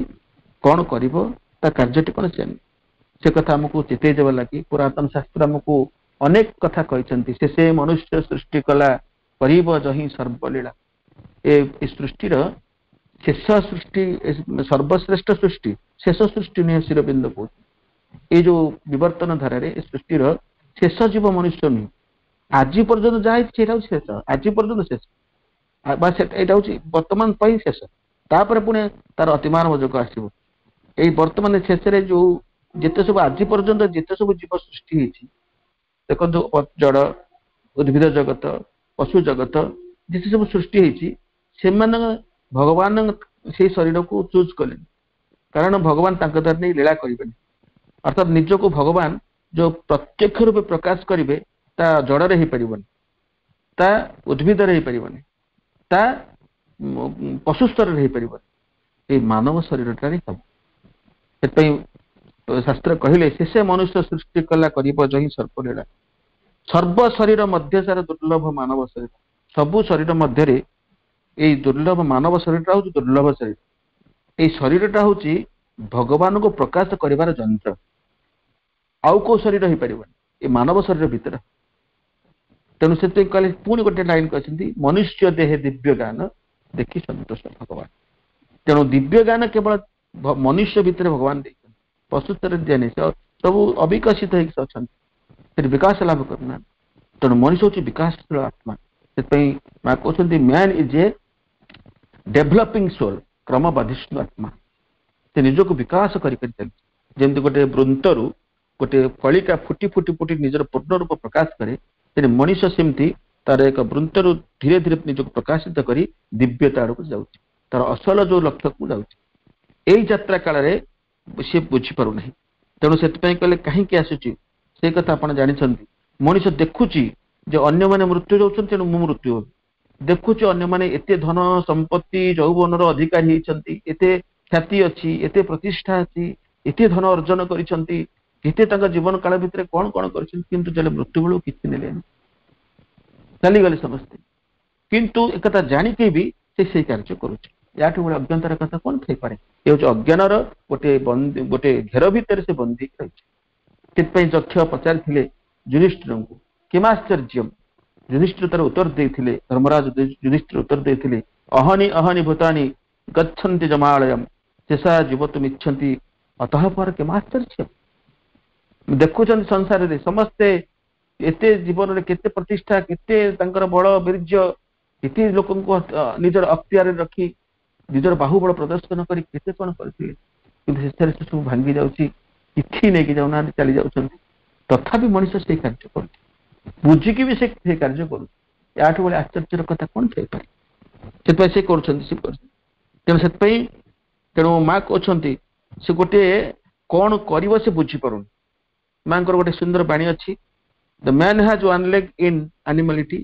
କଣ କରିବ, ତା କାର୍ଯ୍ୟଟି କଣ ସେ ଜାଣିନି। ସେ କଥା ଆମକୁ ଚେତେଇ ଦେବା ଲାଗି ପୁରାତନ ଶାସ୍ତ୍ର ଆମକୁ ଅନେକ କଥା କହିଛନ୍ତି। ସେ ମନୁଷ୍ୟ ସୃଷ୍ଟି କଲା କରିବ ଯହିଁ ସର୍ବଲୀଳା। ଏ ସୃଷ୍ଟିର ଶେଷ ସୃଷ୍ଟି, ସର୍ବଶ୍ରେଷ୍ଠ ସୃଷ୍ଟି, ଶେଷ ସୃଷ୍ଟି ନୁହେଁ। ଶ୍ରୀଅରବିନ୍ଦ କହୁଛି, ଏଇ ଯୋଉ ବିବର୍ତ୍ତନ ଧାରାରେ ଏ ସୃଷ୍ଟିର ଶେଷ ଜୀବ ମନୁଷ୍ୟ ନୁହେଁ। ଆଜି ପର୍ଯ୍ୟନ୍ତ ଯାହା ହେଇଛି ସେଇଟା ହଉଛି ଶେଷ, ଆଜି ପର୍ଯ୍ୟନ୍ତ ଶେଷ ବା ଏଇଟା ହଉଛି ବର୍ତ୍ତମାନ ପାଇଁ ଶେଷ। ତାପରେ ପୁଣି ତାର ଅତିମାନବ ଯୁଗ ଆସିବ। ଏଇ ବର୍ତ୍ତମାନ ଶେଷରେ ଯୋଉ ଯେତେ ସବୁ ଆଜି ପର୍ଯ୍ୟନ୍ତ ଯେତେ ସବୁ ଜୀବ ସୃଷ୍ଟି ହେଇଛି ଦେଖନ୍ତୁ, ଜଡ଼, ଉଦ୍ଭିଦ ଜଗତ, ପଶୁ ଜଗତ, ଯେତେ ସବୁ ସୃଷ୍ଟି ହେଇଛି, ସେମାନେ ଭଗବାନ ସେଇ ଶରୀରକୁ ଚୁଜ୍ କଲେନି, କାରଣ ଭଗବାନ ତାଙ୍କ ଦ୍ୱାରା ନେଇ ଲୀଳା କରିବେନି। ଅର୍ଥାତ୍ ନିଜକୁ ଭଗବାନ ଯୋଉ ପ୍ରତ୍ୟକ୍ଷ ରୂପେ ପ୍ରକାଶ କରିବେ, ତା ଜଡ଼ରେ ହେଇପାରିବନି, ତା ଉଦ୍ଭିଦରେ ହେଇପାରିବନି, ତା ପଶୁ ସ୍ତରରେ ହେଇପାରିବନି, ଏଇ ମାନବ ଶରୀରଟାରେ ହବ। ସେଥିପାଇଁ ଶାସ୍ତ୍ର କହିଲେ, ଶେଷେ ମନୁଷ୍ୟ ସୃଷ୍ଟି କଲା କରିବ ଯହିଁ ସର୍ବଲୀଳା। ସର୍ବ ଶରୀର ମଧ୍ୟ ସାର ଦୁର୍ଲଭ ମାନବ ଶରୀର। ସବୁ ଶରୀର ମଧ୍ୟରେ ଏଇ ଦୁର୍ଲଭ ମାନବ ଶରୀରଟା ହଉଛି ଦୁର୍ଲଭ ଶରୀର। ଏଇ ଶରୀରଟା ହଉଛି ଭଗବାନଙ୍କୁ ପ୍ରକାଶ କରିବାର ଯନ୍ତ୍ର। ଆଉ କୋଉ ଶରୀର ହେଇପାରିବନି, ଏ ମାନବ ଶରୀର ଭିତରେ। ତେଣୁ ସେଥିପାଇଁ କହିଲେ, ପୁଣି ଗୋଟେ ଲାଇନ କହିଛନ୍ତି, ମନୁଷ୍ୟ ଦେହେ ଦିବ୍ୟ ଜ୍ଞାନ ଦେଖି ସନ୍ତୋଷ ଭଗବାନ। ତେଣୁ ଦିବ୍ୟ ଜ୍ଞାନ କେବଳ ମନୁଷ୍ୟ ଭିତରେ ଭଗବାନ ଦେଇଛନ୍ତି, ପଶୁସ୍ତରରେ ଦିଆନି। ସବୁ ଅବିକଶିତ ହେଇକି ଅଛନ୍ତି। ସେଠି ବିକାଶ ଲାଭ କରୁନାହାନ୍ତି। ତେଣୁ ମଣିଷ ହଉଛି ବିକାଶଶୀଳ ଆତ୍ମା। ସେଥିପାଇଁ ମା କହୁଛନ୍ତି, man is a developing soul, କ୍ରମବର୍ଦ୍ଧିଷ୍ଣୁ ଆତ୍ମା। ସେ ନିଜକୁ ବିକାଶ କରି କରି ଚାଲିଛି। ଯେମିତି ଗୋଟେ ବୃନ୍ତରୁ ଗୋଟେ କଳିକା ଫୁଟି ଫୁଟି ଫୁଟି ନିଜର ପୂର୍ଣ୍ଣ ରୂପ ପ୍ରକାଶ କରେ, ତେଣୁ ମଣିଷ ସେମିତି ତାର ଏକ ବୃନ୍ତରୁ ଧୀରେ ଧୀରେ ନିଜକୁ ପ୍ରକାଶିତ କରି ଦିବ୍ୟତା ଆଡକୁ ଯାଉଛି, ତାର ଅସଲ ଯୋଉ ଲକ୍ଷ୍ୟକୁ ଯାଉଛି। ଏଇ ଯାତ୍ରା କାଳରେ ସେ ବୁଝିପାରୁନାହିଁ। ତେଣୁ ସେଥିପାଇଁ କହିଲେ, କାହିଁକି ଆସୁଛି ସେଇ କଥା ଆପଣ ଜାଣିଛନ୍ତି। ମଣିଷ ଦେଖୁଛି ଯେ ଅନ୍ୟମାନେ ମୃତ୍ୟୁ ଯାଉଛନ୍ତି, ତେଣୁ ମୁଁ ମୃତ୍ୟୁ ହେବି। ଦେଖୁଛି ଅନ୍ୟମାନେ ଏତେ ଧନ ସମ୍ପତ୍ତି ଯୌବନର ଅଧିକାରୀ ହେଇଛନ୍ତି, ଏତେ ଖ୍ୟାତି ଅଛି, ଏତେ ପ୍ରତିଷ୍ଠା ଅଛି, ଏତେ ଧନ ଅର୍ଜନ କରିଛନ୍ତି, କେତେ ତାଙ୍କ ଜୀବନ କାଳ ଭିତରେ କଣ କଣ କରିଛନ୍ତି, କିନ୍ତୁ ଯେବେ ମୃତ୍ୟୁ ବେଳକୁ କିଛି ନେଲେନି, ଚାଲିଗଲେ ସମସ୍ତେ। କିନ୍ତୁ ଏକଥା ଜାଣିକି ବି ସେ ସେଇ କାର୍ଯ୍ୟ କରୁଛି। ୟାଠୁ ଭଳି ଅଜ୍ଞତାର କଥା କଣ ଥାଇପାରେ? ଏ ହଉଛି ଅଜ୍ଞାନର ଗୋଟେ ଗୋଟେ ଘେର ଭିତରେ ସେ ବନ୍ଦୀ ରହିଛି। ସେଥିପାଇଁ ଯକ୍ଷ ପଚାରିଥିଲେ ଯୁଧିଷ୍ଠିରଙ୍କୁ, କିମାଶ୍ଚର୍ଯ୍ୟ? ଯୁଧିଷ୍ଠିର ତାର ଉତ୍ତର ଦେଇଥିଲେ, ଧର୍ମରାଜ ଯୁଧିଷ୍ଠିର ଉତ୍ତର ଦେଇଥିଲେ, ଅହନି ଅହନି ଭୂତାନି ଗଚ୍ଛନ୍ତି ଯମାଳୟମ ଶେଷା ଜୀବତୁମିଚ୍ଛନ୍ତି ଅତଃ ପର କିମାଶ୍ଚର୍ଯ୍ୟ। ଦେଖୁଛନ୍ତି ସଂସାରରେ ସମସ୍ତେ ଏତେ ଜୀବନରେ କେତେ ପ୍ରତିଷ୍ଠା, କେତେ ତାଙ୍କର ବଳ ବୀର୍ଯ୍ୟ, କେତେ ଲୋକଙ୍କୁ ନିଜର ଅକ୍ତିଆରରେ ରଖି ନିଜର ବାହୁବଳ ପ୍ରଦର୍ଶନ କରି କେତେ କଣ କରିଥିଲେ, କିନ୍ତୁ ଶେଷରେ ସେ ସବୁ ଭାଙ୍ଗି ଯାଉଛି, କିଛି ନେଇକି ଯାଉନାହାନ୍ତି, ଚାଲି ଯାଉଛନ୍ତି। ତଥାପି ମଣିଷ ସେଇ କାର୍ଯ୍ୟ କରୁଛି, ବୁଝିକି ବି ସେ ସେଇ କାର୍ଯ୍ୟ କରୁଛି। ୟାଠୁ ଭଳି ଆଶ୍ଚର୍ଯ୍ୟର କଥା କଣ ଥାଇପାରେ? ସେଥିପାଇଁ ସେ କରୁଛନ୍ତି, ସେ କରୁଛନ୍ତି। ତେଣୁ ସେଥିପାଇଁ ତେଣୁ ମା କହୁଛନ୍ତି, ସେ ଗୋଟେ କଣ କରିବ ସେ ବୁଝିପାରୁନି। ମାଙ୍କର ଗୋଟେ ସୁନ୍ଦର ବାଣୀ ଅଛି, the man has one leg in animality,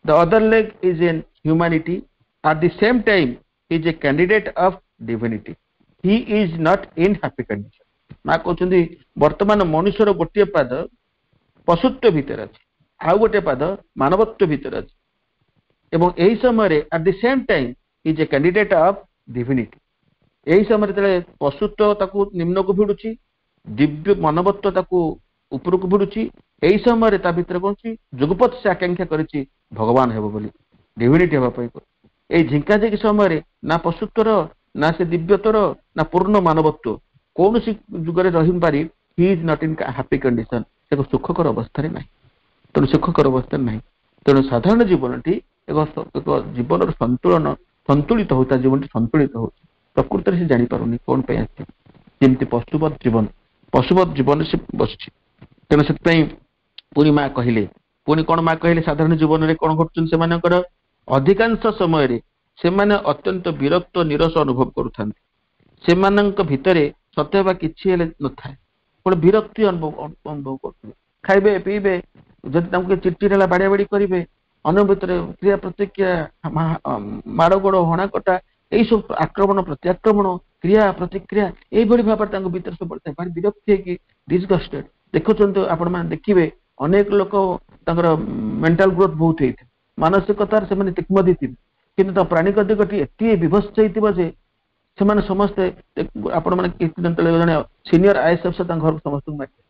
the other leg is in humanity, at the same time he is a candidate of divinity, he is not in happy condition। ମା କହୁଛନ୍ତି, ବର୍ତ୍ତମାନ ମନୁଷ୍ୟର ଗୋଟିଏ ପାଦ ପଶୁତ୍ୱ ଭିତରେ ଅଛି, ଆଉ ଗୋଟିଏ ପାଦ ମାନବତ୍ୱ ଭିତରେ ଅଛି, ଏବଂ ଏହି ସମୟରେ at the same time is a candidate of divinity। ଏହି ସମୟରେ ଯେତେବେଳେ ପଶୁତ୍ୱ ତାକୁ ନିମ୍ନକୁ ଭିଡୁଛି, ଦିବ୍ୟ ମାନବତ୍ୱ ତାକୁ ଉପରକୁ ଭିଡୁଛି, ଏହି ସମୟରେ ତା ଭିତରେ କଣ ଅଛି? ଯୁଗପତ ସେ ଆକାଂକ୍ଷା କରିଛି ଭଗବାନ ହେବ ବୋଲି, ଡିଭିନିଟି ହେବା ପାଇଁ। ଏଇ ଝିଙ୍କାଝିଙ୍କି ସମୟରେ ନା ପଶୁତ୍ୱର, ନା ସେ ଦିବ୍ୟତ୍ୱର, ନା ପୂର୍ଣ୍ଣ ମାନବତ୍ୱ, କୌଣସି ଯୁଗରେ ରହିପାରି he is not in happy condition। ସେ ଏକ ସୁଖକର ଅବସ୍ଥାରେ ନାହିଁ। ତେଣୁ ସୁଖକର ଅବସ୍ଥାରେ ନାହିଁ। ତେଣୁ ସାଧାରଣ ଜୀବନଟି ଏକ ଜୀବନର ସନ୍ତୁଳନ, ସନ୍ତୁଳିତ ହଉଛି, ତା ଜୀବନଟି ସନ୍ତୁଳିତ ହଉଛି। ପ୍ରକୃତରେ ସେ ଜାଣିପାରୁନି କଣ ପାଇଁ ଆସିଛି। ଯେମିତି ପଶୁବତ ଜୀବନ, ପଶୁବତ ଜୀବନ ସେ ବସିଛି। ତେଣୁ ସେଥିପାଇଁ ପୁଣି ମା କହିଲେ, ପୁଣି କଣ ମା କହିଲେ? ସାଧାରଣ ଜୀବନରେ କଣ ଘଟୁଛନ୍ତି ସେମାନଙ୍କର? ଅଧିକାଂଶ ସମୟରେ ସେମାନେ ଅତ୍ୟନ୍ତ ବିରକ୍ତ, ନିରସ ଅନୁଭବ କରୁଥାନ୍ତି। ସେମାନଙ୍କ ଭିତରେ ସତେ ବା କିଛି ହେଲେ ନଥାଏ, ଗୋଟେ ବିରକ୍ତି ଅନୁଭବ କରୁଥିବେ। ଖାଇବେ, ପିଇବେ, ଯଦି ତାଙ୍କୁ ଚିଡ଼ଚିଡ଼ ହେଲା ବାଡ଼ିଆ ବାଡ଼ି କରିବେ, ଅନ୍ୟ ଭିତରେ କ୍ରିୟା ପ୍ରତିକ୍ରିୟା, ମାଡ଼ଗୋଡ଼, ହଣାକଟା, ଏଇସବୁ ଆକ୍ରମଣ ପ୍ରତ୍ୟାକ୍ରମଣ, କ୍ରିୟା ପ୍ରତିକ୍ରିୟା, ଏଇଭଳି ଭାବରେ ତାଙ୍କ ଭିତରେ ସବୁବେଳେ ଥାଏ। ଭାରି ବିରକ୍ତି ହେଇକି ଡିସଗଷ୍ଟେଡ। ଦେଖୁଛନ୍ତି ଆପଣମାନେ, ଦେଖିବେ ଅନେକ ଲୋକ ତାଙ୍କର ମେଣ୍ଟାଲ ଗ୍ରୋଥ ବହୁତ ହେଇଥିବ, ମାନସିକତାରେ ସେମାନେ ତୀକ୍ଷ୍ଣ ଥିବେ, କିନ୍ତୁ ତା ପ୍ରାଣିକ ଦିଗଟି ଏତେ ବିଭତ୍ସ ହେଇଥିବ ଯେ ସେମାନେ ସମସ୍ତେ, ଆପଣମାନେ କିଛି ଦିନ ତଳେ ଜଣେ ସିନିୟର ଆଇଏଏସ୍ ଅଫିସର ତାଙ୍କ ଘରକୁ ସମସ୍ତଙ୍କୁ ମାରିଥିଲେ।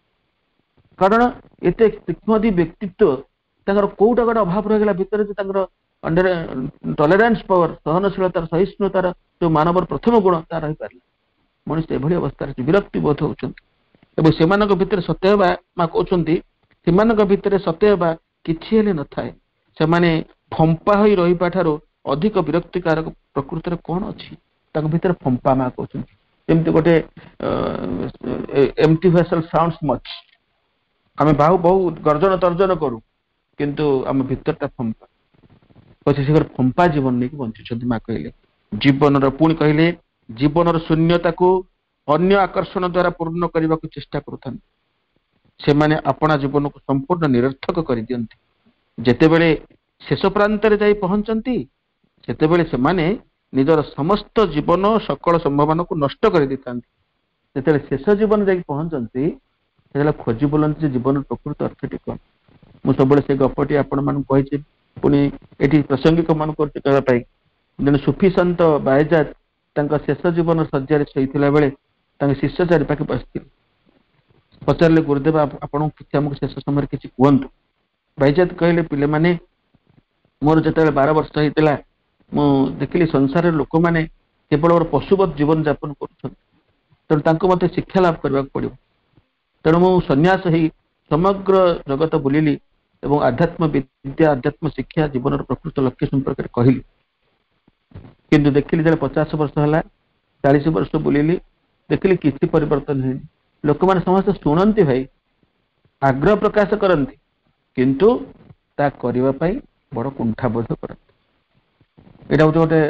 କାରଣ ଏତେ ତୀକ୍ଷ୍ଣ ବ୍ୟକ୍ତିତ୍ୱ, ତାଙ୍କର କୋଉଟା ଗୋଟେ ଅଭାବ ରହିଗଲା ଭିତରେ ଯେ ତାଙ୍କର ଟଲେରାନ୍ସ ପାୱାର, ସହନଶୀଳତାର, ସହିଷ୍ଣୁତାର ଯୋଉ ମାନବର ପ୍ରଥମ ଗୁଣ, ତା ରହିପାରିଲା। ମଣିଷ ଏଭଳି ଅବସ୍ଥାରେ ବିରକ୍ତି ବୋଧ ହଉଛନ୍ତି ଏବଂ ସେମାନଙ୍କ ଭିତରେ ସତେ ହେବା, ମା କହୁଛନ୍ତି, ସେମାନଙ୍କ ଭିତରେ ସତେ ହେବା କିଛି ହେଲେ ନଥାଏ। ସେମାନେ ଫମ୍ପା ହୋଇ ରହିବା ଠାରୁ ଅଧିକ ବିରକ୍ତିକାରକ ପ୍ରକୃତରେ କଣ ଅଛି? ତାଙ୍କ ଭିତରେ ଫମ୍ପା, ମା କହୁଛନ୍ତି, ଯେମିତି ଗୋଟେ ଏମ୍ଟି ଭେସଲ ସାଉଣ୍ଡ ମଚ୍। ଆମେ ବାହୁ ବହୁ ଗର୍ଜନ ତର୍ଜନ କରୁ, କିନ୍ତୁ ଆମ ଭିତରଟା ଫମ୍ପା। ସେ ଫମ୍ପା ଜୀବନ ନେଇକି ବଞ୍ଚୁଛନ୍ତି। ମା କହିଲେ ଜୀବନର, ପୁଣି କହିଲେ, ଜୀବନର ଶୂନ୍ୟତାକୁ ଅନ୍ୟ ଆକର୍ଷଣ ଦ୍ଵାରା ପୂର୍ଣ୍ଣ କରିବାକୁ ଚେଷ୍ଟା କରୁଥାନ୍ତି। ସେମାନେ ଆପଣା ଜୀବନକୁ ସମ୍ପୂର୍ଣ୍ଣ ନିରର୍ଥକ କରିଦିଅନ୍ତି। ଯେତେବେଳେ ଶେଷ ପ୍ରାନ୍ତରେ ଯାଇ ପହଞ୍ଚନ୍ତି, ସେତେବେଳେ ସେମାନେ ନିଜର ସମସ୍ତ ଜୀବନ, ସକଳ ସମ୍ଭାବନାକୁ ନଷ୍ଟ କରିଦେଇଥାନ୍ତି। ଯେତେବେଳେ ଶେଷ ଜୀବନ ଯାଇକି ପହଞ୍ଚନ୍ତି, ସେତେବେଳେ ଖୋଜି ବୁଲନ୍ତି ଯେ ଜୀବନର ପ୍ରକୃତ ଅର୍ଥଟି କଣ। ମୁଁ ସବୁବେଳେ ସେ ଗପଟି ଆପଣମାନଙ୍କୁ କହିଛି, ପୁଣି ଏଠି ପ୍ରାସଙ୍ଗିକ ମନେ କରୁଛି କହିବା ପାଇଁ। ଜଣେ ସୁଫି ସନ୍ଥ ବାୟଜାଦ ତାଙ୍କ ଶେଷ ଜୀବନ ଶଯ୍ୟାରେ ଶୋଇଥିଲା ବେଳେ ତାଙ୍କ ଶିଷ୍ୟ ଚାରି ପାଖେ ବସିଥିଲେ। ପଚାରିଲେ, ଗୁରୁଦେବ, ଆପଣଙ୍କୁ କିଛି, ଆମକୁ ଶେଷ ସମୟରେ କିଛି କୁହନ୍ତୁ। ବାଇଜାଦ କହିଲେ, ପିଲାମାନେ, ମୋର ଯେତେବେଳେ 12 ବର୍ଷ ହେଇଥିଲା, ମୁଁ ଦେଖିଲି ସଂସାରରେ ଲୋକମାନେ କେବଳ ପଶୁବତ ଜୀବନ ଯାପନ କରୁଛନ୍ତି। ତେଣୁ ତାଙ୍କୁ ମତେ ଶିକ୍ଷା ଲାଭ କରିବାକୁ ପଡିବ। ତେଣୁ ମୁଁ ସନ୍ନ୍ୟାସ ହେଇ ସମଗ୍ର ଜଗତ ବୁଲିଲି ଏବଂ ଆଧ୍ୟାତ୍ମ ବିଦ୍ୟା, ଆଧ୍ୟାତ୍ମ ଶିକ୍ଷା, ଜୀବନର ପ୍ରକୃତ ଲକ୍ଷ୍ୟ ସମ୍ପର୍କରେ କହିଲି। କିନ୍ତୁ ଦେଖିଲି ଯେତେବେଳେ 50 ବର୍ଷ ହେଲା, 40 ବର୍ଷ ବୁଲିଲି, ଦେଖିଲି କିଛି ପରିବର୍ତ୍ତନ ହେଇନି। ଲୋକମାନେ ସମସ୍ତେ ଶୁଣନ୍ତି ଭାଇ, ଆଗ୍ରହ ପ୍ରକାଶ କରନ୍ତି, କିନ୍ତୁ ତା କରିବା ପାଇଁ ବଡ କୁଣ୍ଠାବୋଧ କରନ୍ତି। ଏଇଟା ହଉଛି ଗୋଟେ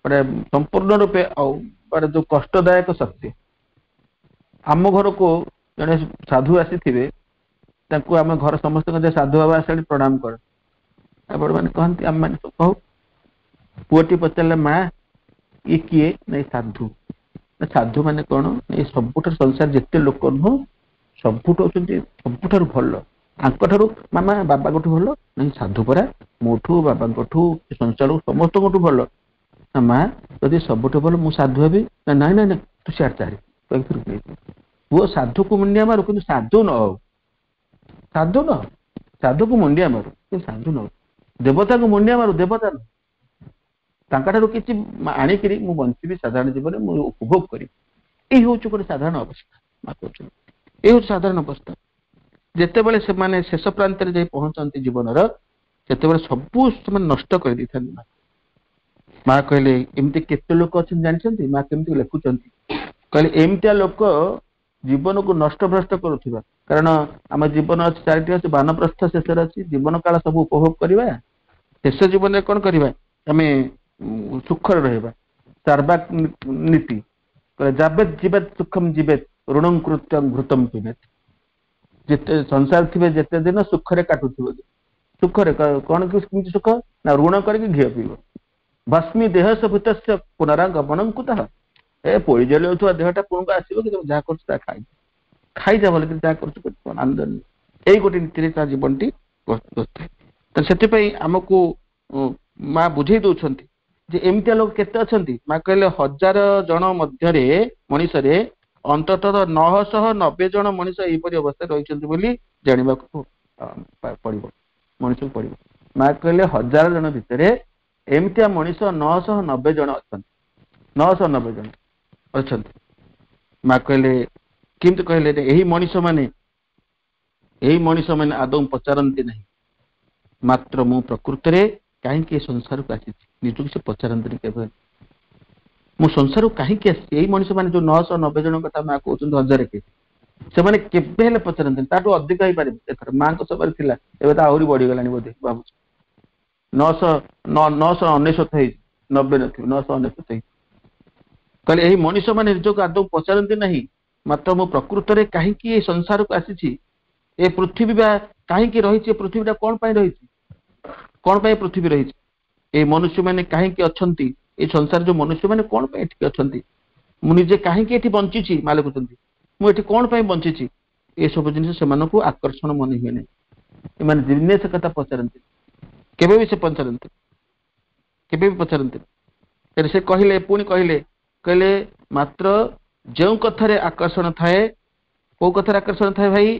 ଗୋଟେ ସମ୍ପୂର୍ଣ୍ଣ ରୂପେ ଆଉ ଗୋଟେ ଯୋଉ କଷ୍ଟଦାୟକ ସତ୍ୟ। ଆମ ଘରକୁ ଜଣେ ସାଧୁ ଆସିଥିବେ, ତାଙ୍କୁ ଆମ ଘର ସମସ୍ତଙ୍କ ଯେ ସାଧୁ ବାବା ଆସିଲେଣି, ପ୍ରଣାମ କର, ଆପଣ ମାନେ କହନ୍ତି, ଆମେ ମାନେ ସବୁ କହୁ। ପୁଅଟି ପଚାରିଲେ, ମା ଇଏ କିଏ? ନାଇଁ, ସାଧୁ। ସାଧୁ ମାନେ କଣ? ଏ ସବୁଠାରୁ ସଂସାର ଯେତେ ଲୋକ ନୁହଁ, ସବୁଠୁ ହଉଛନ୍ତି ସବୁଠାରୁ ଭଲ। ଆଙ୍କଠାରୁ ମାମା ବାବାଙ୍କଠୁ ଭଲ ନାଇଁ, ସାଧୁ ପରା ମୋଠୁ, ବାବାଙ୍କଠୁ, ସଂସାର ସମସ୍ତଙ୍କଠୁ ଭଲ। ନା ମା, ଯଦି ସବୁଠୁ ଭଲ ମୁଁ ସାଧୁ ହେବି ନା? ନାଇଁ ନାଇଁ ନାଇଁ, ତୁ ସିଆଡ଼େ ଚାରି କହିକି। ପୁଅ ସାଧୁକୁ ମୁଣ୍ଡିଆ ମାରୁ କିନ୍ତୁ ସାଧୁ ନ ହଉ। ସାଧୁ ନ ହଉ, ସାଧୁକୁ ମୁଣ୍ଡିଆ ମାରୁ କିନ୍ତୁ ସାଧୁ ନ ହଉ। ଦେବତାକୁ ମୁଣ୍ଡିଆ ମାରୁ, ଦେବତା ନ। ତାଙ୍କଠାରୁ କିଛି ଆଣିକିରି ମୁଁ ବଞ୍ଚିବି, ସାଧାରଣ ଜୀବନରେ ମୁଁ ଉପଭୋଗ କରିବି। ଏଇ ହଉଛି ଗୋଟେ ସାଧାରଣ ଅବସ୍ଥା। ମା କହୁଛନ୍ତି, ଏଇ ହଉଛି ସାଧାରଣ ଅବସ୍ଥା। ଯେତେବେଳେ ସେମାନେ ଶେଷ ପ୍ରାନ୍ତରେ ଯାଇ ପହଞ୍ଚନ୍ତି ଜୀବନର, ସେତେବେଳେ ସବୁ ସେମାନେ ନଷ୍ଟ କରିଦେଇଥାନ୍ତି। ମା କହିଲେ, ଏମିତି କେତେ ଲୋକ ଅଛନ୍ତି ଜାଣିଛନ୍ତି? ମା କେମିତି ଲେଖୁଛନ୍ତି, କହିଲେ ଏମିତିଆ ଲୋକ ଜୀବନକୁ ନଷ୍ଟ ଭ୍ରଷ୍ଟ କରୁଥିବା। କାରଣ ଆମ ଜୀବନ ଅଛି ଚାରିଟି ଅଛି, ବାନପ୍ରସ୍ଥ ଶେଷରେ ଅଛି। ଜୀବନ କାଳ ସବୁ ଉପଭୋଗ କରିବା, ଶେଷ ଜୀବନରେ କଣ କରିବା? ଆମେ ସୁଖରେ ରହିବା। ଚାର୍ବାକ ନୀତି, ଯାବେତ ଜୀବେତ ସୁଖମ ଜୀବେତ ଋଣ କୃତ୍ୟଂ ଘୃତମ ପିବେତ। ଯେତେ ସଂସାର ଥିବେ ଯେତେ ଦିନ ସୁଖରେ କାଟୁଥିବ, ସୁଖରେ କଣ, କେମିତି ସୁଖ ନା ଋଣ କରିକି ଘିଅ ପିଇବ। ଭସ୍ମୀ ଦେହ ଭୂତସ୍ୟ ପୁନରାଗମନଂ କୁତଃ। ଏ ପୋଡ଼ି ଜଳିଯାଉଥିବା ଦେହଟା ପୁଣି ଆସିବ କି? ଯାହା କରୁଛୁ ତାହା ଖାଇ ଖାଇଯା, ଭଲ କରି ଯାହା କରୁଛୁ ଆନନ୍ଦ। ଏଇ ଗୋଟେ ନୀତିରେ ତା ଜୀବନଟି ବସିଥାଏ। ତ ସେଥିପାଇଁ ଆମକୁ ମା ବୁଝେଇ ଦଉଛନ୍ତି ଯେ ଏମିତିଆ ଲୋକ କେତେ ଅଛନ୍ତି। ମା କହିଲେ, 1000 ଜଣ ମଧ୍ୟରେ ମଣିଷରେ ଅନ୍ତତଃ 990 ଜଣ ମଣିଷ ଏହିପରି ଅବସ୍ଥାରେ ରହିଛନ୍ତି ବୋଲି ଜାଣିବାକୁ ପଡିବ, ମଣିଷକୁ ପଡିବ। ମା କହିଲେ, 1000 ଜଣ ଭିତରେ ଏମିତିଆ ମଣିଷ 990 ଜଣ ଅଛନ୍ତି, 990 ଜଣ ଅଛନ୍ତି। ମା କହିଲେ, କେମିତି କହିଲେ? ଏହି ମଣିଷ ମାନେ ଆଦୌ ପଚାରନ୍ତି ନାହିଁ, ମାତ୍ର ମୁଁ ପ୍ରକୃତରେ କାହିଁକି ଏ ସଂସାରକୁ ଆସିଛି? ନିଜକୁ ସେ ପଚାରନ୍ତିନି କେବେ, ମୁଁ ସଂସାରକୁ କାହିଁକି ଆସିଛି? ଏଇ ମଣିଷ ମାନେ ଯୋଉ 990 ଜଣ କଥା ମା କହୁଛନ୍ତି, ହଜାରେ କେ ସେମାନେ କେବେ ହେଲେ ପଚାରନ୍ତିନି। ତାଠୁ ଅଧିକ ହେଇପାରିବ। ଏଥର ମାଙ୍କ ସମୟରେ ଥିଲା, ଏବେ ତ ଆହୁରି ବଢିଗଲାଣି ବୋଧେ ଭାବୁଛି। 999 ହେଇଛି, 90 ନଥିବ, 999 ହେଇଛି। କହିଲେ, ଏହି ମଣିଷ ମାନେ ନିଜକୁ ଆଦୌ ପଚାରନ୍ତି ନାହିଁ, ମାତ୍ର ମୁଁ ପ୍ରକୃତରେ କାହିଁକି ଏ ସଂସାରକୁ ଆସିଛି? ଏ ପୃଥିବୀ ବା କାହିଁକି ରହିଛି? ଏ ପୃଥିବୀଟା କଣ ପାଇଁ ରହିଛି? କଣ ପାଇଁ ପୃଥିବୀ ରହିଛି? ଏଇ ମନୁଷ୍ୟମାନେ କାହିଁକି ଅଛନ୍ତି? ଏଇ ସଂସାର ଯୋଉ ମନୁଷ୍ୟମାନେ କଣ ପାଇଁ ଏଠିକି ଅଛନ୍ତି? ମୁଁ ନିଜେ କାହିଁକି ଏଠି ବଞ୍ଚିଛି? ମା ଲେଖୁଛନ୍ତି, ମୁଁ ଏଠି କଣ ପାଇଁ ବଞ୍ଚିଛି? ଏସବୁ ଜିନିଷ ସେମାନଙ୍କୁ ଆକର୍ଷଣ ମନେ ହୁଏ ନାହିଁ। ଏମାନେ ଦିନେ ସେ କଥା ପଚାରନ୍ତି, କେବେ ବି ସେ ପଚାରନ୍ତି, କେବେ ବି ପଚାରନ୍ତି। ସେ କହିଲେ, ପୁଣି କହିଲେ, କହିଲେ ମାତ୍ର ଯେଉଁ କଥାରେ ଆକର୍ଷଣ ଥାଏ, କୋଉ କଥାରେ ଆକର୍ଷଣ ଥାଏ ଭାଇ?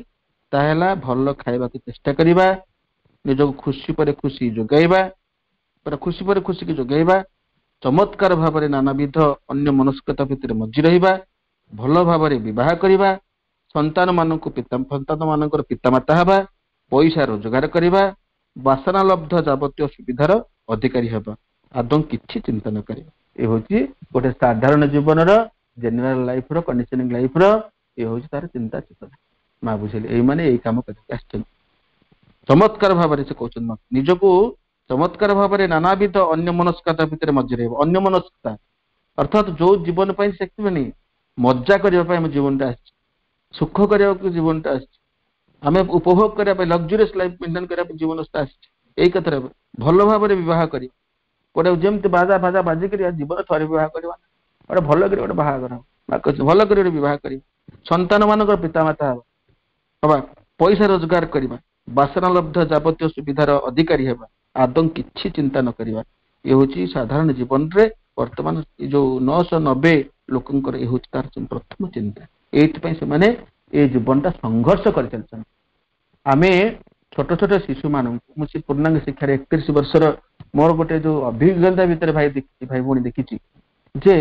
ତାହା ହେଲା ଭଲ ଖାଇବାକୁ ଚେଷ୍ଟା କରିବା, ନିଜକୁ ଖୁସି ପରେ ଖୁସି ଯୋଗାଇବା, ପୁରା ଖୁସି ପରେ ଖୁସିକି ଯୋଗାଇବା, ଚମତ୍କାର ଭାବରେ ନାନାବିଧ ଅନ୍ୟ ମନସ୍କତା ଭିତରେ ମଜ୍ଜି ରହିବା, ଭଲ ଭାବରେ ବିବାହ କରିବା, ସନ୍ତାନ ମାନଙ୍କୁ ପିତା ସନ୍ତାନ ମାନଙ୍କର ପିତାମାତା ହେବା, ପଇସା ରୋଜଗାର କରିବା, ବାସନାଲବ୍ଧ ଯାବତୀୟ ସୁବିଧାର ଅଧିକାରୀ ହେବା, ଆଦୌ କିଛି ଚିନ୍ତା ନ କରିବା। ଏ ହଉଛି ଗୋଟେ ସାଧାରଣ ଜୀବନର, ଜେନେରାଲ ଲାଇଫର, କଣ୍ଡିସନିଂ ଲାଇଫର ଏ ହଉଛି ତାର ଚିନ୍ତା ଚେତନା। ମା ବୁଝିଲେ, ଏଇମାନେ ଏଇ କାମ କରିକି ଆସିଛନ୍ତି। ଚମତ୍କାର ଭାବରେ ସେ କହୁଛନ୍ତି, ନିଜକୁ ଚମତ୍କାର ଭାବରେ ନାନାବିଧ ଅନ୍ୟ ମନସ୍କତା ଭିତରେ ମଜ୍ଜି ରହିବ। ଅନ୍ୟ ମନସ୍କତା ଅର୍ଥାତ ଯୋଉ ଜୀବନ ପାଇଁ ସେ ମଜା କରିବା ପାଇଁ ଆମ ଜୀବନଟା ଆସିଛି, ସୁଖ କରିବାକୁ ଜୀବନଟା ଆସିଛି, ଆମେ ଉପଭୋଗ କରିବା ପାଇଁ, ଲକ୍ଜୁରିୟସ୍ ଲାଇଫ ମେଣ୍ଟେନ କରିବା ପାଇଁ ଜୀବନ ଆସିଛି। ଏଇ କଥାରେ ଭଲ ଭାବରେ ବିବାହ କରିବା, ଗୋଟେ ଯେମିତି ବାଜା ଫାଜା ବାଜିକରି, ଜୀବନ ଥରେ ବିବାହ କରିବା, ଗୋଟେ ଭଲ କରି ଗୋଟେ ବାହାଘର, ଭଲ କରି ଗୋଟେ ବିବାହ କରିବା, ସନ୍ତାନ ମାନଙ୍କର ପିତାମାତା ହବା, ପଇସା ରୋଜଗାର କରିବା, ବାସନାଲବ୍ଧ ଯାବତୀୟ ସୁବିଧାର ଅଧିକାରୀ ହେବା, ଆଦୌ କିଛି ଚିନ୍ତା ନ କରିବା। ଏ ହଉଛି ସାଧାରଣ ଜୀବନରେ ବର୍ତ୍ତମାନ ଏ ଯୋଉ 990 ଲୋକଙ୍କର ଏ ହଉଛି ତାର ପ୍ରଥମ ଚିନ୍ତା। ଏଇଥିପାଇଁ ସେମାନେ ଏ ଜୀବନଟା ସଂଘର୍ଷ କରିଚାଲିଛନ୍ତି। ଆମେ ଛୋଟ ଛୋଟ ଶିଶୁମାନଙ୍କୁ, ମୁଁ ସେ ପୂର୍ଣ୍ଣାଙ୍ଗ ଶିକ୍ଷାରେ 31 ବର୍ଷର ମୋର ଗୋଟେ ଯୋଉ ଅଭିଜ୍ଞତା ଭିତରେ ଭାଇ ଦେଖିଛି, ଭାଇ ଭଉଣୀ ଦେଖିଛି ଯେ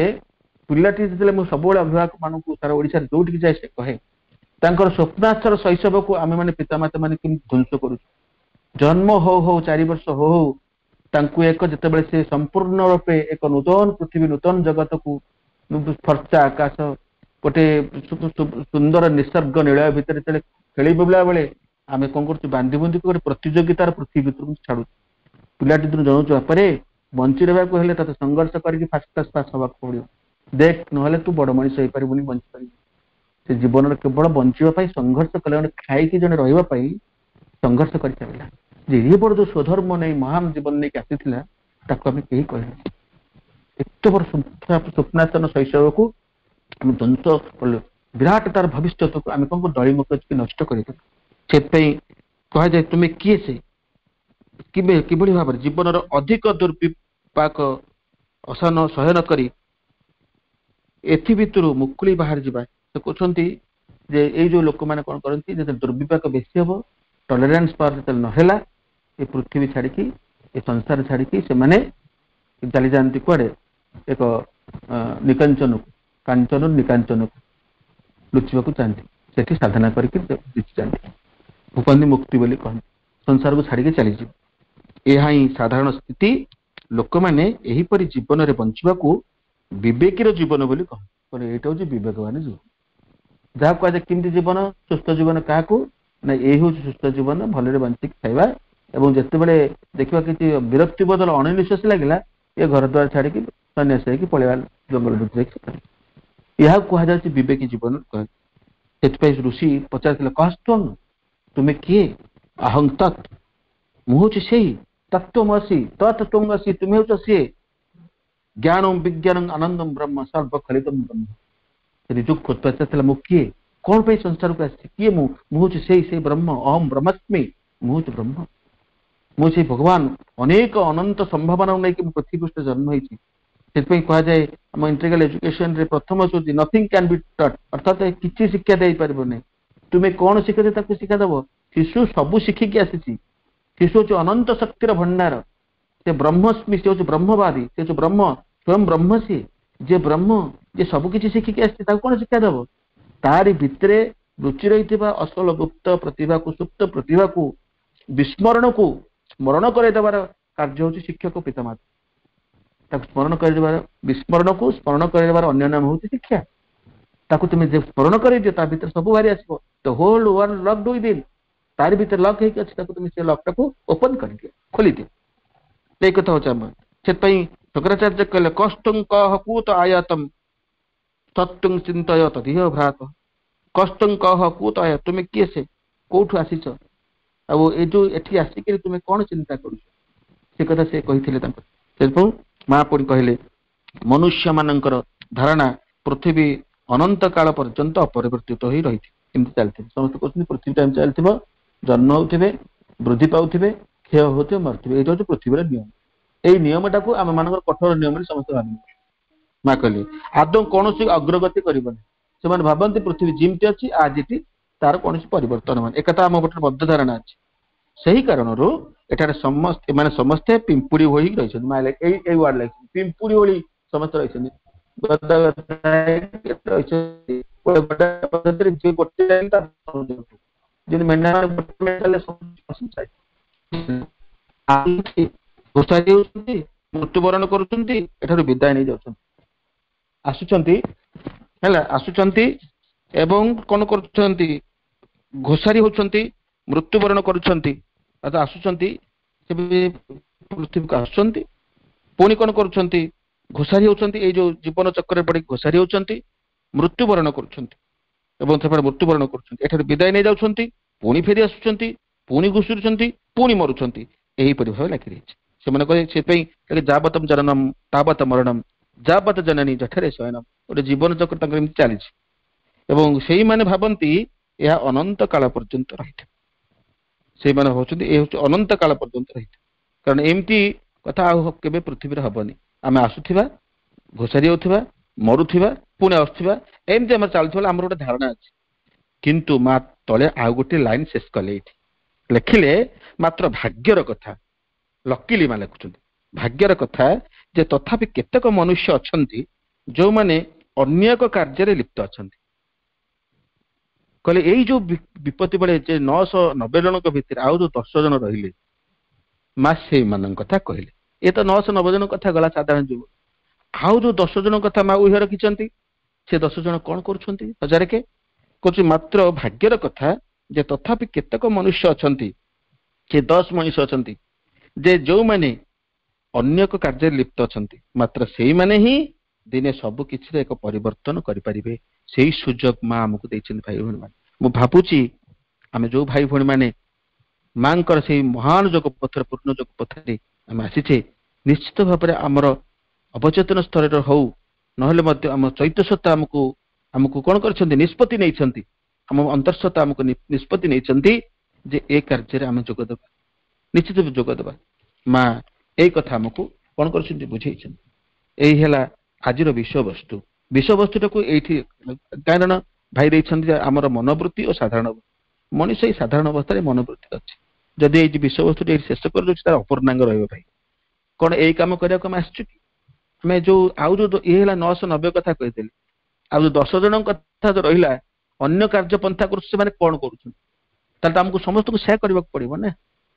ପିଲାଟି ଯେତେବେଳେ, ମୁଁ ସବୁବେଳେ ଅଭିଭାବକ ମାନଙ୍କୁ ସାରା ଓଡିଶାରେ ଯୋଉଠିକି ଯାଏ ସେ କହେ ତାଙ୍କର ସ୍ୱପ୍ନାଶ୍ଚର ଶୈଶବକୁ ଆମେ ମାନେ ପିତାମାତା ମାନେ କେମିତି ଧ୍ୱଂସ କରୁଛୁ। ଜନ୍ମ ହଉ ହଉ, 4 ବର୍ଷ ହଉ ହଉ, ତାଙ୍କୁ ଏକ ଯେତେବେଳେ ସେ ସମ୍ପୂର୍ଣ୍ଣ ରୂପେ ଏକ ନୂତନ ପୃଥିବୀ, ନୂତନ ଜଗତକୁ, ଫର୍ଚା ଆକାଶ, ଗୋଟେ ସୁନ୍ଦର ନିସର୍ଗ ନିଳୟ ଭିତରେ ଯେତେବେଳେ ଖେଳି ବୁଲିଲା ବେଳେ ଆମେ କଣ କରୁଛୁ? ବାନ୍ଧି ବୁନ୍ଧିକି ଗୋଟେ ପ୍ରତିଯୋଗିତାର ପୃଥିବୀ ଭିତରକୁ ଛାଡୁଛୁ। ପିଲାଟି ଦିନୁ ଜଣଉଛୁ, ବାପରେ, ବଞ୍ଚି ରହିବାକୁ ହେଲେ ତତେ ସଂଘର୍ଷ କରିକି ଫାର୍ଷ୍ଟ କ୍ଲାସ ପାସ୍ ହବାକୁ ପଡିବ ଦେଖ, ନହେଲେ ତୁ ବଡ ମଣିଷ ହେଇପାରିବୁନି, ବଞ୍ଚିପାରିବୁନି। ସେ ଜୀବନରେ କେବଳ ବଞ୍ଚିବା ପାଇଁ ସଂଘର୍ଷ କଲେ, ଜଣେ ଖାଇକି ଜଣେ ରହିବା ପାଇଁ ସଂଘର୍ଷ କରି ଚାଲିଲା। ଯେ ଇଏ ବଡ ଯୋଉ ସ୍ୱଧର୍ମ ନେଇ ମହାନ ଜୀବନ ନେଇକି ଆସିଥିଲା, ତାକୁ ଆମେ କେହି କହିନୁ। ଏତେ ବଡ ସ୍ୱପ୍ନାତନ ଶୈଶବକୁ ଆମେ ଧ୍ୱଂସ କଲୁ। ବିରାଟ ତାର ଭବିଷ୍ୟତକୁ ଆମେ କଣ ଦଳିମକଚିକି ନଷ୍ଟ କରିଦେଲୁ। ସେଥିପାଇଁ କୁହାଯାଏ, ତୁମେ କିଏ ସେ, କେବେ କିଭଳି ଭାବରେ ଜୀବନର ଅଧିକ ଦୁର୍ବିପାକ ଅସହନ ସହ୍ୟ ନ କରି ଏଥି ଭିତରୁ ମୁକୁଳି ବାହାରି ଯିବା। ସେ କହୁଛନ୍ତି ଯେ ଏଇ ଯୋଉ ଲୋକମାନେ କଣ କରନ୍ତି, ଯେତେବେଳେ ଦୁର୍ବିପାକ ବେଶୀ ହବ, ଟଲରାନ୍ସ ପାୱାର ଯେତେବେଳେ ନହେଲା, ଏ ପୃଥିବୀ ଛାଡିକି, ଏ ସଂସାର ଛାଡିକି ସେମାନେ ଚାଲିଯାଆନ୍ତି କୁଆଡେ? ଏକ ନିକାଞ୍ଚନକୁ, କାଞ୍ଚନ ନିକାଞ୍ଚନକୁ ଲୁଚିବାକୁ ଚାହାନ୍ତି। ସେଠି ସାଧନା କରିକି ଲୁଚି ଯାଆନ୍ତି, କହନ୍ତି ମୁକ୍ତି ବୋଲି କହନ୍ତି, ସଂସାରକୁ ଛାଡିକି ଚାଲିଯିବ। ଏହା ହିଁ ସାଧାରଣ ସ୍ଥିତି। ଲୋକମାନେ ଏହିପରି ଜୀବନରେ ବଞ୍ଚିବାକୁ ବିବେକୀର ଜୀବନ ବୋଲି କହନ୍ତି। ଏଇଟା ହଉଛି ବିବେକବାନ ଜୀବନ, ଯାହା କୁହାଯାଏ। କେମିତି ଜୀବନ, ସୁସ୍ଥ ଜୀବନ କାହାକୁ ନା, ଏଇ ହଉଛି ସୁସ୍ଥ ଜୀବନ, ଭଲରେ ବଞ୍ଚିକି ଖାଇବା। ଏବଂ ଯେତେବେଳେ ଦେଖିବା କିଛି ବିରକ୍ତି ବଦଳ ଅଣନିଶ୍ୱାସ ଲାଗିଲା, ଏ ଘର ଦ୍ୱାର ଛାଡିକି ସନ୍ନ୍ୟାସ ହେଇକି ପଳେଇବା ଜଙ୍ଗଲ ଭିତରେ। ଏହାକୁ କୁହାଯାଉଛି ବିବେକୀ ଜୀବନ। ସେଥିପାଇଁ ଋଷି ପଚାରିଥିଲେ, କସ୍ତ୍ୱଂ, ତୁମେ କିଏ? ଅହଂ ତତ୍, ମୁଁ ହଉଛି ସେଇ, ତତ୍ତ୍ୱମସି, ତତ୍ ତ୍ୱମସି, ତୁମେ ହେଉଛ ସିଏ, ଜ୍ଞାନ ବିଜ୍ଞାନ ଆନନ୍ଦମ ବ୍ରହ୍ମ ସର୍ବ ଖଳିତମ ବ୍ରହ୍ମ। ସେ ନିଜକୁ ପଚାରିଥିଲା, ମୁଁ କିଏ? କଣ ପାଇଁ ସଂସାରକୁ ଆସିଛି? କିଏ ମୁଁ? ମୁଁ ହଉଛି ସେଇ ସେଇ ବ୍ରହ୍ମ। ଅହଂ ବ୍ରହ୍ମାସ୍ମି, ମୁଁ ହଉଛି ବ୍ରହ୍ମ, ମୁଁ ସେଇ ଭଗବାନ। ଅନେକ ଅନନ୍ତ ସମ୍ଭାବନା ନେଇକି ମୁଁ ପୃଥିବୀ ପୃଷ୍ଠରେ ଜନ୍ମ ହେଇଛି। ସେଥିପାଇଁ କୁହାଯାଏ, ଆମ ଇଣ୍ଟିଗ୍ରାଲ ଏଜୁକେସନରେ ପ୍ରଥମ ହେଉଛି "Nothing can be taught", ଅର୍ଥାତ କିଛି ଶିକ୍ଷା ଦେଇପାରିବ ନାହିଁ। ତୁମେ କଣ ଶିକ୍ଷା ତାକୁ ଶିକ୍ଷା ଦବ? ଶିଶୁ ସବୁ ଶିଖିକି ଆସିଛି। ଶିଶୁ ହଉଛି ଅନନ୍ତ ଶକ୍ତିର ଭଣ୍ଡାର। ସେ ବ୍ରହ୍ମସ୍ମି, ସେ ହଉଛି ବ୍ରହ୍ମବାଦୀ, ସେ ହଉଛି ବ୍ରହ୍ମ, ସ୍ୱୟଂ ବ୍ରହ୍ମ ସିଏ। ଯେ ବ୍ରହ୍ମ, ଯେ ସବୁ କିଛି ଶିଖିକି ଆସିଛି, ତାକୁ କଣ ଶିକ୍ଷା ଦବ? ତାରି ଭିତରେ ଲୁଚି ରହିଥିବା ଅସଲ ଗୁପ୍ତ ପ୍ରତିଭାକୁ, ସୁପ୍ତ ପ୍ରତିଭାକୁ, ବିସ୍ମରଣକୁ ସ୍ମରଣ କରାଇଦେବାର କାର୍ଯ୍ୟ ହଉଛି ଶିକ୍ଷକ, ପିତାମାତା। ତାକୁ ସ୍ମରଣ କରିଦେବାର, ବିସ୍ମରଣକୁ ସ୍ମରଣ କରିଦେବାର ଅନ୍ୟ ନାମ ହଉଛି ଶିକ୍ଷା। ତାକୁ ତୁମେ ଯେ ସ୍ମରଣ କରିଦିଅ, ତା ଭିତରେ ସବୁ ବାହାରି ଆସିବ। The whole world locked within, ତାରି ଭିତରେ ଲକ୍ ହେଇକି ଅଛି। ତାକୁ ତୁମେ ସେ ଲକ୍ଟାକୁ ଓପନ କରିଦିଅ, ଖୋଲିଦିଅ। ଏଇ କଥା ହଉଛି ଆମ। ସେଥିପାଇଁ ଶଙ୍କରାଚାର୍ଯ୍ୟ କହିଲେ, କସ୍ତ୍ୱଂ କଃ କୁତ ଆୟାତମ୍ ତତ୍ତ୍ୱଂ ଚିନ୍ତୟ ତଦିହ ଭ୍ରାତଃ। କସ୍ତ୍ୱଂ କଃ କୁତ ଆୟ, ତୁମେ କିଏ ସେ, କୋଉଠୁ ଆସିଛ, ଆଉ ଏଇ ଯୋଉ ଏଠି ଆସିକିରି ତୁମେ କଣ ଚିନ୍ତା କରୁଛ, ସେ କଥା ସେ କହିଥିଲେ ତାଙ୍କ। ସେଥିପାଇଁ ମା ପୁଣି କହିଲେ, ମନୁଷ୍ୟ ମାନଙ୍କର ଧାରଣା ପୃଥିବୀ ଅନନ୍ତ କାଳ ପର୍ଯ୍ୟନ୍ତ ଅପରିବର୍ତ୍ତିତ ହୋଇ ରହିଥିବ, ଏମିତି ଚାଲିଥିବ। ସମସ୍ତେ କହୁଛନ୍ତି ପୃଥିବୀଟା ଏମିତି ଚାଲିଥିବ, ଜନ୍ମ ହଉଥିବେ, ବୃଦ୍ଧି ପାଉଥିବେ, କ୍ଷୟ ହଉଥିବେ, ମରୁଥିବେ, ଏଇଟା ହଉଛି ପୃଥିବୀର ନିୟମ। ଏଇ ନିୟମଟାକୁ ଆମ ମାନଙ୍କର କଠୋର ନିୟମ ବୋଲି ସମସ୍ତେ ଭାବନ୍ତି। ମା କହିଲେ, ଆଦୌ କୌଣସି ଅଗ୍ରଗତି କରିବନି। ସେମାନେ ଭାବନ୍ତି ପୃଥିବୀ ଯେମିତି ଅଛି ଆଜିଟି, ତାର କୌଣସି ପରିବର୍ତ୍ତନ ହବନି। ଏକଥା ଆମ ଗୋଟେ ବଦ୍ଧ ଧାରଣା ଅଛି। ସେହି କାରଣରୁ ଏଠାରେ ସମସ୍ତେ, ଏମାନେ ସମସ୍ତେ ପିମ୍ପୁଡି ଭଳି ରହିଛନ୍ତି। ମା ଏଇ ଏଇ ୱାର୍ଡ ଲେଖିଛନ୍ତି, ପିମ୍ପୁଡି ଭଳି ସମସ୍ତେ ରହିଛନ୍ତି, ଗଦା ରହିଛନ୍ତି ପଦ୍ଧତିରେ। ଯିଏ ଗୋଟେ, ଯେମିତି ମେଣ୍ଢା ଗୋଟେ ଘୋଷାରି ହେଉଛନ୍ତି, ମୃତ୍ୟୁବରଣ କରୁଛନ୍ତି, ଏଠାରୁ ବିଦାୟ ନେଇ ଯାଉଛନ୍ତି। ଆସୁଛନ୍ତି ହେଲା, ଆସୁଛନ୍ତି ଏବଂ କଣ କରୁଛନ୍ତି? ଘୋଷାରି ହଉଛନ୍ତି, ମୃତ୍ୟୁବରଣ କରୁଛନ୍ତି। ଆସୁଛନ୍ତି, ସେ ପୃଥିବୀକୁ ଆସୁଛନ୍ତି, ପୁଣି କଣ କରୁଛନ୍ତି? ଘୋଷାରି ହଉଛନ୍ତି। ଏଇ ଯୋଉ ଜୀବନ ଚକ୍ରରେ ପଡି ଘୋଷାରି ହଉଛନ୍ତି, ମୃତ୍ୟୁବରଣ କରୁଛନ୍ତି ଏବଂ ସେମାନେ ମୃତ୍ୟୁବରଣ କରୁଛନ୍ତି, ଏଠାରୁ ବିଦାୟ ନେଇ ଯାଉଛନ୍ତି, ପୁଣି ଫେରି ଆସୁଛନ୍ତି, ପୁଣି ଘୁଷୁରୁଛନ୍ତି, ପୁଣି ମରୁଛନ୍ତି। ଏହିପରି ଭାବେ ଲାଗି ରହିଛି। ସେମାନେ କହେ, ସେଥିପାଇଁ ଯାବତମ ଜନନମ ତାବତ ମରଣମ ଯାବତ ଜନନୀ ଜଠରେ ଶୟନମ। ଗୋଟେ ଜୀବନ ଚକ୍ର ତାଙ୍କର ଏମିତି ଚାଲିଛି ଏବଂ ସେଇମାନେ ଭାବନ୍ତି ଏହା ଅନନ୍ତ କାଳ ପର୍ଯ୍ୟନ୍ତ ରହିଥିବ। ସେଇମାନେ ଭାବୁଛନ୍ତି ଏ ହଉଛି ଅନନ୍ତ କାଳ ପର୍ଯ୍ୟନ୍ତ ରହିଥିବ। କାରଣ ଏମିତି କଥା ଆଉ କେବେ ପୃଥିବୀରେ ହବନି। ଆମେ ଆସୁଥିବା, ଘୋଷାରି ହେଉଥିବା, ମରୁଥିବା, ପୁଣି ଆସୁଥିବା, ଏମିତି ଆମର ଚାଲୁଥିବା, ଆମର ଗୋଟେ ଧାରଣା ଅଛି। କିନ୍ତୁ ମା ତଳେ ଆଉ ଗୋଟେ ଲାଇନ ଶେଷ କଲେ। ଏଇଠି ଲେଖିଲେ, ମାତ୍ର ଭାଗ୍ୟର କଥା, ଲକିଲି ମା ଲେଖୁଛନ୍ତି, ଭାଗ୍ୟର କଥା ଯେ ତଥାପି କେତେକ ମନୁଷ୍ୟ ଅଛନ୍ତି, ଯୋଉମାନେ ଅନ୍ୟ ଏକ କାର୍ଯ୍ୟରେ ଲିପ୍ତ ଅଛନ୍ତି। କହିଲେ ଏଇ ଯୋଉ ବିପତ୍ତି ବେଳେ ଯେ 990 ଜଣଙ୍କ ଭିତରେ ଆଉ ଯୋଉ 10 ଜଣ ରହିଲେ, ମା ସେଇମାନଙ୍କ କଥା କହିଲେ। ଏ ତ 990 ଜଣ କଥା ଗଲା ସାଧାରଣ ଯୁଗ। ଆଉ ଯୋଉ 10 ଜଣ କଥା ମା ଉହ୍ୟ ରଖିଛନ୍ତି, ସେ 10 ଜଣ କଣ କରୁଛନ୍ତି? ହଜାରେ କେ କହୁଛି, ମାତ୍ର ଭାଗ୍ୟର କଥା ଯେ ତଥାପି କେତେକ ମନୁଷ୍ୟ ଅଛନ୍ତି, ସେ 10 ମଣିଷ ଅଛନ୍ତି ଯେ ଯୋଉମାନେ ଅନ୍ୟ ଏକ କାର୍ଯ୍ୟରେ ଲିପ୍ତ ଅଛନ୍ତି, ମାତ୍ର ସେଇମାନେ ହିଁ ଦିନେ ସବୁ କିଛିରେ ଏକ ପରିବର୍ତ୍ତନ କରିପାରିବେ। ସେଇ ସୁଯୋଗ ମା ଆମକୁ ଦେଇଛନ୍ତି। ଭାଇ ଭଉଣୀ ମାନେ, ମୁଁ ଭାବୁଛି ଆମେ ଯୋଉ ଭାଇ ଭଉଣୀ ମାନେ ମାଙ୍କର ସେଇ ମହାନ ଯୋଗ ପଥରେ, ପୂର୍ଣ୍ଣ ଯୋଗ ପଥରେ ଆମେ ଆସିଛେ, ନିଶ୍ଚିତ ଭାବରେ ଆମର ଅବଚେତନ ସ୍ତରରେ ହଉ ନହେଲେ ମଧ୍ୟ ଆମ ଚୈତ୍ୟ ସତ୍ତା ଆମକୁ କଣ କରିଛନ୍ତି? ନିଷ୍ପତ୍ତି ନେଇଛନ୍ତି। ଆମ ଅନ୍ତର୍ସତ୍ତା ଆମକୁ ନିଷ୍ପତ୍ତି ନେଇଛନ୍ତି ଯେ ଏ କାର୍ଯ୍ୟରେ ଆମେ ଯୋଗ ଦେବା, ନିଶ୍ଚିତ ଯୋଗ ଦେବା। ମା ଏଇ କଥା ଆମକୁ କଣ କରିଛନ୍ତି? ବୁଝେଇଛନ୍ତି। ଏଇ ହେଲା ଆଜିର ବିଷୟବସ୍ତୁ। ବିଷୟବସ୍ତୁଟାକୁ ଏଇଠି କାରଣ ଭାଇ ଦେଇଛନ୍ତି ଯେ ଆମର ମନୋବୃତ୍ତି ଓ ସାଧାରଣ ମଣିଷ ଏଇ ସାଧାରଣ ଅବସ୍ଥାରେ ମନୋବୃତ୍ତି ଅଛି। ଯଦି ଏଇ ବିଷୟବସ୍ତୁଟି ଏଇଠି ଶେଷ କରିଦେଉଛି, ତାର ଅପୂର୍ଣ୍ଣାଙ୍ଗ ରହିବ। ଭାଇ, କଣ ଏଇ କାମ କରିବାକୁ ଆମେ ଆସିଛୁ କି? ଆମେ ଯୋଉ ଆଉ ଯୋଉ ଇଏ ହେଲା 990 କଥା କହିଦେଲି, ଆଉ ଯୋଉ 10 ଜଣଙ୍କ କଥା ଯୋଉ ରହିଲା, ଅନ୍ୟ କାର୍ଯ୍ୟ ପନ୍ଥା କରୁଛୁ, ସେମାନେ କଣ କରୁଛନ୍ତି? ତାହେଲେ ତ ଆମକୁ ସମସ୍ତଙ୍କୁ ସେୟା କରିବାକୁ ପଡିବ ନା।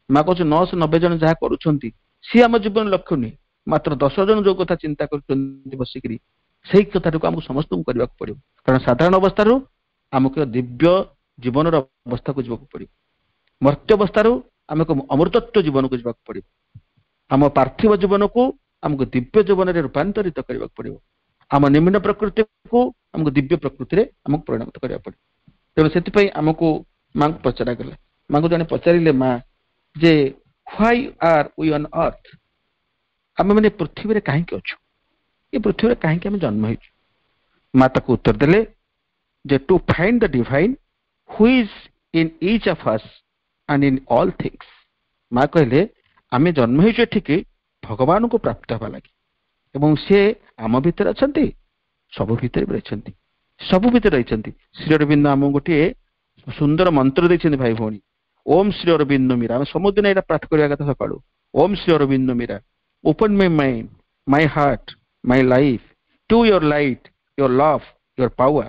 ମା କହୁଛି 990 ଜଣ ଯାହା କରୁଛନ୍ତି ସିଏ ଆମ ଜୀବନ ଲକ୍ଷ୍ୟ ନୁହେଁ, ମାତ୍ର 10 ଜଣ ଯୋଉ କଥା ଚିନ୍ତା କରୁଛନ୍ତି ବସିକିରି, ସେଇ କଥାଟାକୁ ଆମକୁ ସମସ୍ତଙ୍କୁ କରିବାକୁ ପଡିବ। କାରଣ ସାଧାରଣ ଅବସ୍ଥାରୁ ଆମକୁ ଦିବ୍ୟ ଜୀବନର ଅବସ୍ଥାକୁ ଯିବାକୁ ପଡିବ, ମର୍ତ୍ତ୍ୟ ଅବସ୍ଥାରୁ ଆମକୁ ଅମୃତତ୍ଵ ଜୀବନକୁ ଯିବାକୁ ପଡିବ, ଆମ ପାର୍ଥିବ ଜୀବନକୁ ଆମକୁ ଦିବ୍ୟ ଜୀବନରେ ରୂପାନ୍ତରିତ କରିବାକୁ ପଡିବ, ଆମ ନିମ୍ନ ପ୍ରକୃତିକୁ ଆମକୁ ଦିବ୍ୟ ପ୍ରକୃତିରେ ଆମକୁ ପରିଣତ କରିବାକୁ ପଡିବ। ତେଣୁ ସେଥିପାଇଁ ଆମକୁ ମାଙ୍କୁ ପଚରା ଗଲା। ମାଙ୍କୁ ଜଣେ ପଚାରିଲେ ମା ଯେ "Why are we on earth?" ଆମେ ମାନେ ପୃଥିବୀରେ କାହିଁକି ଅଛୁ? ଏ ପୃଥିବୀରେ କାହିଁକି ଆମେ ଜନ୍ମ ହେଇଛୁ? ମା ତାକୁ ଉତ୍ତର ଦେଲେ ଯେ "To find the divine who is in each of us and in all things." ମା କହିଲେ, ଆମେ ଜନ୍ମ ହେଇଛୁ ଏଠିକି ଭଗବାନଙ୍କୁ ପ୍ରାପ୍ତ ହେବା ଲାଗି ଏବଂ ସେ ଆମ ଭିତରେ ଅଛନ୍ତି, ସବୁ ଭିତରେ ବି ରହିଛନ୍ତି, ସବୁ ଭିତରେ ରହିଛନ୍ତି। ଶ୍ରୀ ଅରବିନ୍ଦ ଆମକୁ ଗୋଟିଏ ସୁନ୍ଦର ମନ୍ତ୍ର ଦେଇଛନ୍ତି ଭାଇ ଭଉଣୀ, ଓମ୍ ଶ୍ରୀ ଅରବିନ୍ଦ ମୀରା। ଆମେ ସବୁଦିନ ଏଇଟା ପାଠ କରିବା କଥା ସକାଳୁ। "Om Shri Arvind Meera, open my mind, my heart, my life to your light, your love, your power.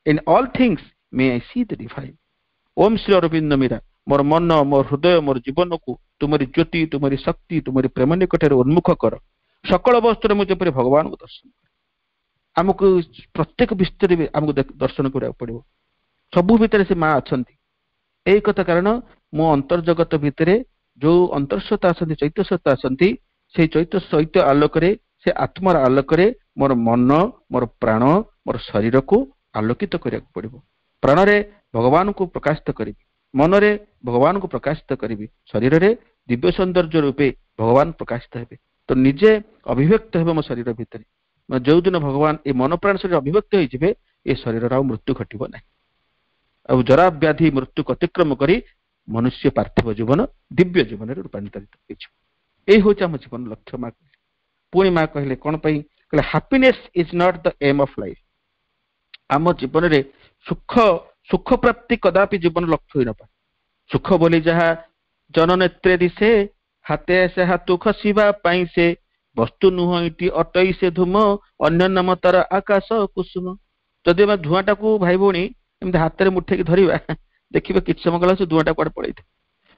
In all things may I see the divine." Om Shri Arvind Meera, ମୋର ମନ, ମୋର ହୃଦୟ, ମୋର ଜୀବନକୁ ତୁମରି ଜ୍ୟୋତି, ତୁମରି ଶକ୍ତି, ତୁମରି ପ୍ରେମ ନିକଟରେ ଉନ୍ମୁଖ କର। ସକଳ ବସ୍ତୁରେ ମୁଁ ଯେପରି ଭଗବାନଙ୍କୁ ଦର୍ଶନ କରେ। ଆମକୁ ପ୍ରତ୍ୟେକ ବିସ୍ତରେ ଆମକୁ ଦର୍ଶନ କରିବାକୁ ପଡିବ। ସବୁ ଭିତରେ ସେ ମା ଅଛନ୍ତି, ଏଇ କଥା। କାରଣ ମୋ ଅନ୍ତର୍ଜଗତ ଭିତରେ ଯୋଉ ଅନ୍ତର୍ସତ୍ତା ଅଛନ୍ତି, ଚୈତ୍ୟ ସତ୍ତା ଅଛନ୍ତି, ସେଇ ଚୈତ୍ୟ ସୈତ୍ୟ ଆଲୋକରେ, ସେ ଆତ୍ମାର ଆଲୋକରେ ମୋର ମନ, ମୋର ପ୍ରାଣ, ମୋର ଶରୀରକୁ ଆଲୋକିତ କରିବାକୁ ପଡିବ। ପ୍ରାଣରେ ଭଗବାନଙ୍କୁ ପ୍ରକାଶିତ କରିବି, ମନରେ ଭଗବାନଙ୍କୁ ପ୍ରକାଶିତ କରିବି, ଶରୀରରେ ଦିବ୍ୟ ସୌନ୍ଦର୍ଯ୍ୟ ରୂପେ ଭଗବାନ ପ୍ରକାଶିତ ହେବେ। ତ ନିଜେ ଅଭିବ୍ୟକ୍ତ ହେବ ମୋ ଶରୀର ଭିତରେ। ଯୋଉଦିନ ଭଗବାନ ଏ ମନ, ପ୍ରାଣ, ଶରୀର ଅଭିବ୍ୟକ୍ତ ହେଇଯିବେ, ଏ ଶରୀରର ଆଉ ମୃତ୍ୟୁ ଘଟିବ ନାହିଁ। ଆଉ ଜରା ବ୍ୟାଧି ମୃତ୍ୟୁକୁ ଅତିକ୍ରମ କରି ମନୁଷ୍ୟ ପାର୍ଥିବ ଜୀବନ ଦିବ୍ୟ ଜୀବନରେ ରୂପାନ୍ତରିତ ହେଇଯିବ। ଏଇ ହଉଛି ଆମ ଜୀବନ ଲକ୍ଷ୍ୟ, ମା କହିଲେ। ପୁଣି ମା କହିଲେ କଣ ପାଇଁ? କହିଲେ, "Happiness is not the aim of life." ଆମ ଜୀବନରେ ସୁଖ ପ୍ରାପ୍ତି କଦାପି ଜୀବନ ଲକ୍ଷ୍ୟ ହୋଇନପାରେ। ସୁଖ ବୋଲି ଯାହା ଜନନେତ୍ରେ ଦିଶେ, ହାତେ ଆସେ ହାତୁ ଖସିବା ପାଇଁ ସେ, ବସ୍ତୁ ନୁହଁ ଇଟି ଅଟଇ ସେ ଧୂମ, ଅନ୍ୟ ନାମ ତାର ଆକାଶ କୁସୁମ। ଯଦି ଆମେ ଧୂଆଁଟାକୁ ଭାଇ ଭଉଣୀ ଏମିତି ହାତରେ ମୁଠେଇକି ଧରିବା, ଦେଖିବେ କିଛି ସମୟ ଗଲା ସେ ଧୂଆଁଟା କୁଆଡେ ପଳେଇଥାଏ।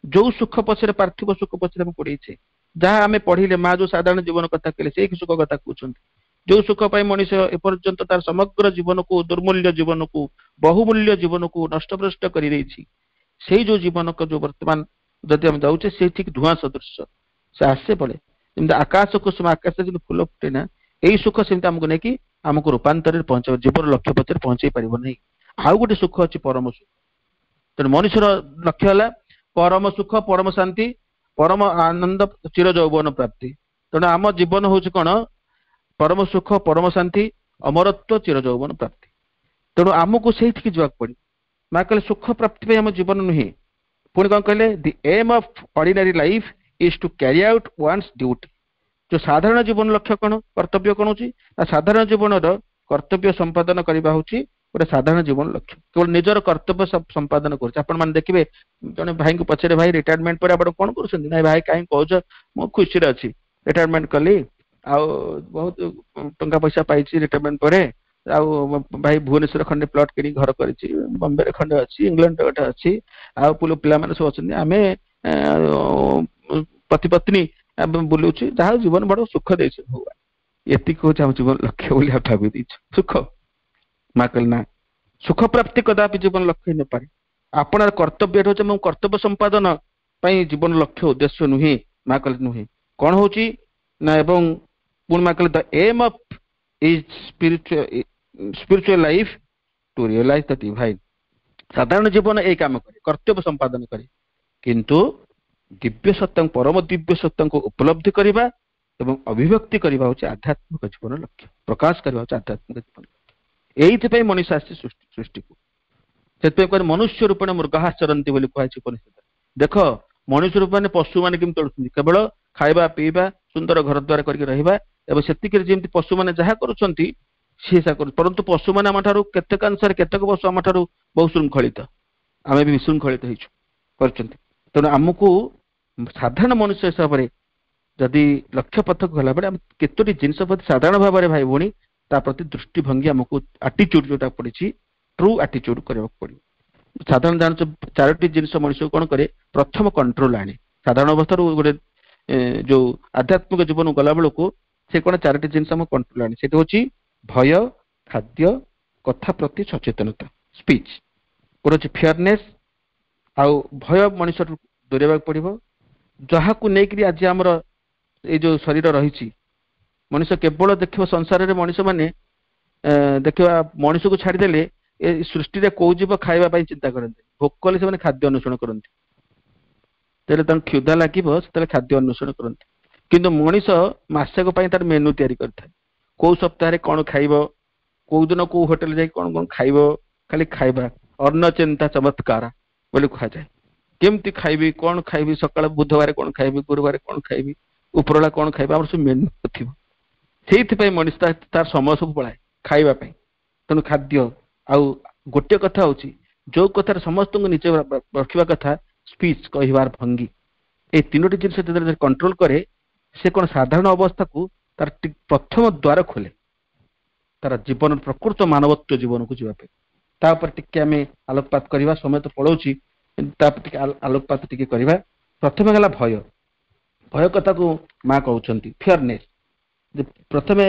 ଯୋଉ ସୁଖ ପଛରେ, ପାର୍ଥିବ ସୁଖ ପଛରେ ଆମେ ପଡିଛେ, ଯାହା ଆମେ ପଢିଲେ, ମା ଯୋଉ ସାଧାରଣ ଜୀବନ କଥା କହିଲେ, ସେଇ ସୁଖ କଥା କହୁଛନ୍ତି। ଯୋଉ ସୁଖ ପାଇଁ ମଣିଷ ଏପର୍ଯ୍ୟନ୍ତ ତାର ସମଗ୍ର ଜୀବନକୁ, ଦୁର୍ମୂଲ୍ୟ ଜୀବନକୁ, ବହୁମୂଲ୍ୟ ଜୀବନକୁ ନଷ୍ଟଭ୍ରଷ୍ଟ କରିଦେଇଛି, ସେଇ ଯୋଉ ଜୀବନକୁ ଯୋଉ ବର୍ତ୍ତମାନ ଯଦି ଆମେ ଯାଉଛେ, ସେ ଠିକ ଧୂଆଁ ସଦୃଶ। ସେ ଆସେ ପଳେ। ଯେମିତି ଆକାଶ କୁସୁମ, ଆକାଶରେ ଯେମିତି ଫୁଲ ଫୁଟେ ନା, ଏଇ ସୁଖ ସେମିତି ଆମକୁ ନେଇକି ଆମକୁ ରୂପାନ୍ତରରେ ପହଞ୍ଚେଇବ, ଜୀବନ ଲକ୍ଷ୍ୟ ପଥରେ ପହଞ୍ଚେଇ ପାରିବ ନାହିଁ। ଆଉ ଗୋଟେ ସୁଖ ଅଛି, ପରମ ସୁଖ। ତେଣୁ ମନୁଷ୍ୟର ଲକ୍ଷ୍ୟ ହେଲା ପରମ ସୁଖ, ପରମ ଶାନ୍ତି, ପରମ ଆନନ୍ଦ, ଚିର ଯୌବନ ପ୍ରାପ୍ତି। ତେଣୁ ଆମ ଜୀବନ ହଉଛି କଣ? ପରମ ସୁଖ, ପରମ ଶାନ୍ତି, ଅମରତ୍ୱ, ଚିର ଯୌବନ ପ୍ରାପ୍ତି। ତେଣୁ ଆମକୁ ସେଇଠିକି ଯିବାକୁ ପଡିବ। ମା କହିଲେ, ସୁଖ ପ୍ରାପ୍ତି ପାଇଁ ଆମ ଜୀବନ ନୁହେଁ। ପୁଣି କଣ କହିଲେ? "The aim of ordinary life is to carry out one's duty." ଯୋଉ ସାଧାରଣ ଜୀବନ ଲକ୍ଷ୍ୟ କଣ, କର୍ତ୍ତବ୍ୟ କଣ ହଉଛି ନା, ସାଧାରଣ ଜୀବନର କର୍ତ୍ତବ୍ୟ ସମ୍ପାଦନ କରିବା ହଉଛି ଗୋଟେ ସାଧାରଣ ଜୀବନ ଲକ୍ଷ୍ୟ। କେବଳ ନିଜର କର୍ତ୍ତବ୍ୟ ସମ୍ପାଦନ କରୁଛି। ଆପଣ ମାନେ ଦେଖିବେ, ଜଣେ ଭାଇଙ୍କୁ ପଚାରେ, "ଭାଇ, ରିଟାୟାରମେଣ୍ଟ ପରେ ଆପଣ କଣ କରୁଛନ୍ତି?" "ନାଇଁ ଭାଇ, କାହିଁ କହୁଛ, ମୁଁ ଖୁସିରେ ଅଛି। ରିଟାୟାରମେଣ୍ଟ କଲି ଆଉ ବହୁତ ଟଙ୍କା ପଇସା ପାଇଛି ରିଟାୟାରମେଣ୍ଟ ପରେ। ଆଉ ଭାଇ ଭୁବନେଶ୍ୱର ଖଣ୍ଡେ ପ୍ଲଟ କିଣି ଘର କରିଛି, ବମ୍ବେରେ ଖଣ୍ଡେ ଅଛି, ଇଂଲଣ୍ଡରେ ଗୋଟେ ଅଛି, ଆଉ ପିଲାମାନେ ସବୁ ଅଛନ୍ତି, ଆମେ ପତି ପତ୍ନୀ ବୁଲୁଛୁ, ଯାହା ଜୀବନ ବଡ ସୁଖ ଦେଇଛି ଭଗବାନ, ଏତିକି ହଉଛି ଆମ ଜୀବନ ଲକ୍ଷ୍ୟ ବୋଲି ଆମେ ଭାବି ଦେଇଛୁ ସୁଖ। ମା କହିଲେ ନା, ସୁଖ ପ୍ରାପ୍ତି କଦାପି ଜୀବନ ଲକ୍ଷ୍ୟ ହେଇନପାରେ। ଆପଣର କର୍ତ୍ତବ୍ୟ ହଉଛି ମୋ କର୍ତ୍ତବ୍ୟ ସମ୍ପାଦନ ପାଇଁ ଜୀବନ ଲକ୍ଷ୍ୟ ଉଦ୍ଦେଶ୍ୟ ନୁହେଁ। ମା କହିଲେ ନୁହେଁ, କଣ ହଉଛି ନା, ଏବଂ ପୁଣି ମା କହିଲେ the aim of is spiritual life to realize the divine। ସାଧାରଣ ଜୀବନ ଏଇ କାମ କରେ, କର୍ତ୍ତବ୍ୟ ସମ୍ପାଦନ କରେ, କିନ୍ତୁ ଦିବ୍ୟ ସତ୍ତାଙ୍କୁ, ପରମ ଦିବ୍ୟ ସତ୍ତାଙ୍କୁ ଉପଲବ୍ଧି କରିବା ଏବଂ ଅଭିବ୍ୟକ୍ତି କରିବା ହଉଛି ଆଧ୍ୟାତ୍ମିକ ଜୀବନ ଲକ୍ଷ୍ୟ, ପ୍ରକାଶ କରିବା ହଉଛି ଆଧ୍ୟାତ୍ମିକ ଜୀବନ ଲକ୍ଷ୍ୟ। ଏଇଥିପାଇଁ ମଣିଷ ଆସିଛି ସୃଷ୍ଟିକୁ। ସେଥିପାଇଁ କୁହାଯାଏ ମନୁଷ୍ୟ ରୂପେଣ ମୃଗାଃ ଚରନ୍ତି ବୋଲି କୁହାଯାଇଛି ଉପନିଷଦରେ। ଦେଖ ମଣିଷ ରୂପ ମାନେ ପଶୁମାନେ କେମିତି ଚଳୁଛନ୍ତି, କେବଳ ଖାଇବା ପିଇବା, ସୁନ୍ଦର ଘର ଦ୍ୱାର କରିକି ରହିବା, ଏବଂ ସେତିକିରେ ଯେମିତି ପଶୁମାନେ ଯାହା କରୁଛନ୍ତି ସିଏ ସେୟା କରୁଛନ୍ତି। ପରନ୍ତୁ ପଶୁମାନେ ଆମ ଠାରୁ କେତେକାଂଶରେ, କେତେକ ପଶୁ ଆମ ଠାରୁ ବହୁ ଶୃଙ୍ଖଳିତ, ଆମେ ବି ବିଶୃଙ୍ଖଳିତ ହେଇଛୁ କରିଛନ୍ତି। ତେଣୁ ଆମକୁ ସାଧାରଣ ମନୁଷ୍ୟ ହିସାବରେ ଯଦି ଲକ୍ଷ୍ୟ ପଥକୁ ଗଲାବେଳେ ଆମେ କେତୋଟି ଜିନିଷ ପ୍ରତି ସାଧାରଣ ଭାବରେ ଭାଇ ଭଉଣୀ ତା ପ୍ରତି ଦୃଷ୍ଟିଭଙ୍ଗୀ ଆମକୁ ଆଟିଚ୍ୟୁଡ ଯୋଉଟା ପଡିଛି, ଟ୍ରୁ ଆଟିଚ୍ୟୁଡ କରିବାକୁ ପଡିବ। ସାଧାରଣ ଜାଣିଛ ଚାରୋଟି ଜିନିଷ ମଣିଷକୁ କଣ କରେ, ପ୍ରଥମ କଣ୍ଟ୍ରୋଲ ଆଣେ। ସାଧାରଣ ଅବସ୍ଥାରୁ ଗୋଟେ ଯୋଉ ଆଧ୍ୟାତ୍ମିକ ଜୀବନ ଗଲା ବେଳକୁ ସେ କଣ ଚାରୋଟି ଜିନିଷ ଆମକୁ କଣ୍ଟ୍ରୋଲ ଆଣେ। ସେଠି ହଉଛି ଭୟ, ଖାଦ୍ୟ, କଥା ପ୍ରତି ସଚେତନତା, ସ୍ପିଚ୍, ଗୋଟେ ହଉଛି ଫିୟରନେସ୍। ଆଉ ଭୟ ମଣିଷଠୁ ଦୂରେଇବାକୁ ପଡିବ, ଯାହାକୁ ନେଇକରି ଆଜି ଆମର ଏଇ ଯୋଉ ଶରୀର ରହିଛି। ମଣିଷ କେବଳ ଦେଖିବ ସଂସାରରେ ମଣିଷ ମାନେ ଦେଖିବା, ମଣିଷକୁ ଛାଡ଼ିଦେଲେ ଏ ସୃଷ୍ଟିରେ କୋଉ ଜୀବ ଖାଇବା ପାଇଁ ଚିନ୍ତା କରନ୍ତି? ଭୋକ କଲେ ସେମାନେ ଖାଦ୍ୟ ଅନ୍ୱେଷଣ କରନ୍ତି, ଯେତେବେଳେ ତାଙ୍କୁ କ୍ଷୁଧା ଲାଗିବ ସେତେବେଳେ ଖାଦ୍ୟ ଅନ୍ୱେଷଣ କରନ୍ତି। କିନ୍ତୁ ମଣିଷ ମାସକ ପାଇଁ ତାର ମେନୁ ତିଆରି କରିଥାଏ, କୋଉ ସପ୍ତାହରେ କଣ ଖାଇବ, କୋଉ ଦିନ କୋଉ ହୋଟେଲ ଯାଇ କଣ କଣ ଖାଇବ, ଖାଲି ଖାଇବା। ଅନ୍ନ ଚିନ୍ତା ଚମତ୍କାର ବୋଲି କୁହାଯାଏ। କେମିତି ଖାଇବି, କଣ ଖାଇବି, ସକାଳେ ବୁଧବାର କଣ ଖାଇବି, ଗୁରୁବାର କଣ ଖାଇବି, ଉପରବେଳା କଣ ଖାଇବି, ଆମର ସବୁ ମେନୁ ଥିବ। ସେଇଥିପାଇଁ ମଣିଷ ତାର ସମୟ ସବୁ ପଳାଏ ଖାଇବା ପାଇଁ। ତେଣୁ ଖାଦ୍ୟ। ଆଉ ଗୋଟିଏ କଥା ହଉଛି ଯୋଉ କଥାରେ ସମସ୍ତଙ୍କୁ ନିଜେ ରଖିବା କଥା, ସ୍ପିଚ୍, କହିବାର ଭଙ୍ଗୀ। ଏଇ ତିନୋଟି ଜିନିଷ ଯେତେବେଳେ କଣ୍ଟ୍ରୋଲ କରେ, ସେ କଣ ସାଧାରଣ ଅବସ୍ଥାକୁ ତାର ପ୍ରଥମ ଦ୍ୱାର ଖୋଲେ ତାର ଜୀବନ ପ୍ରକୃତ ମାନବତ୍ୱ ଜୀବନକୁ ଯିବା ପାଇଁ। ତା ଉପରେ ଟିକେ ଆମେ ଆଲୋକପାତ କରିବା, ସମୟ ତ ପଳଉଛି, ତାପରେ ଟିକେ ଆଲୋକପାତ ଟିକେ କରିବା। ପ୍ରଥମେ ହେଲା ଭୟ। ଭୟ କଥାକୁ ମା କହୁଛନ୍ତି ଫିୟରନେସ୍। ପ୍ରଥମେ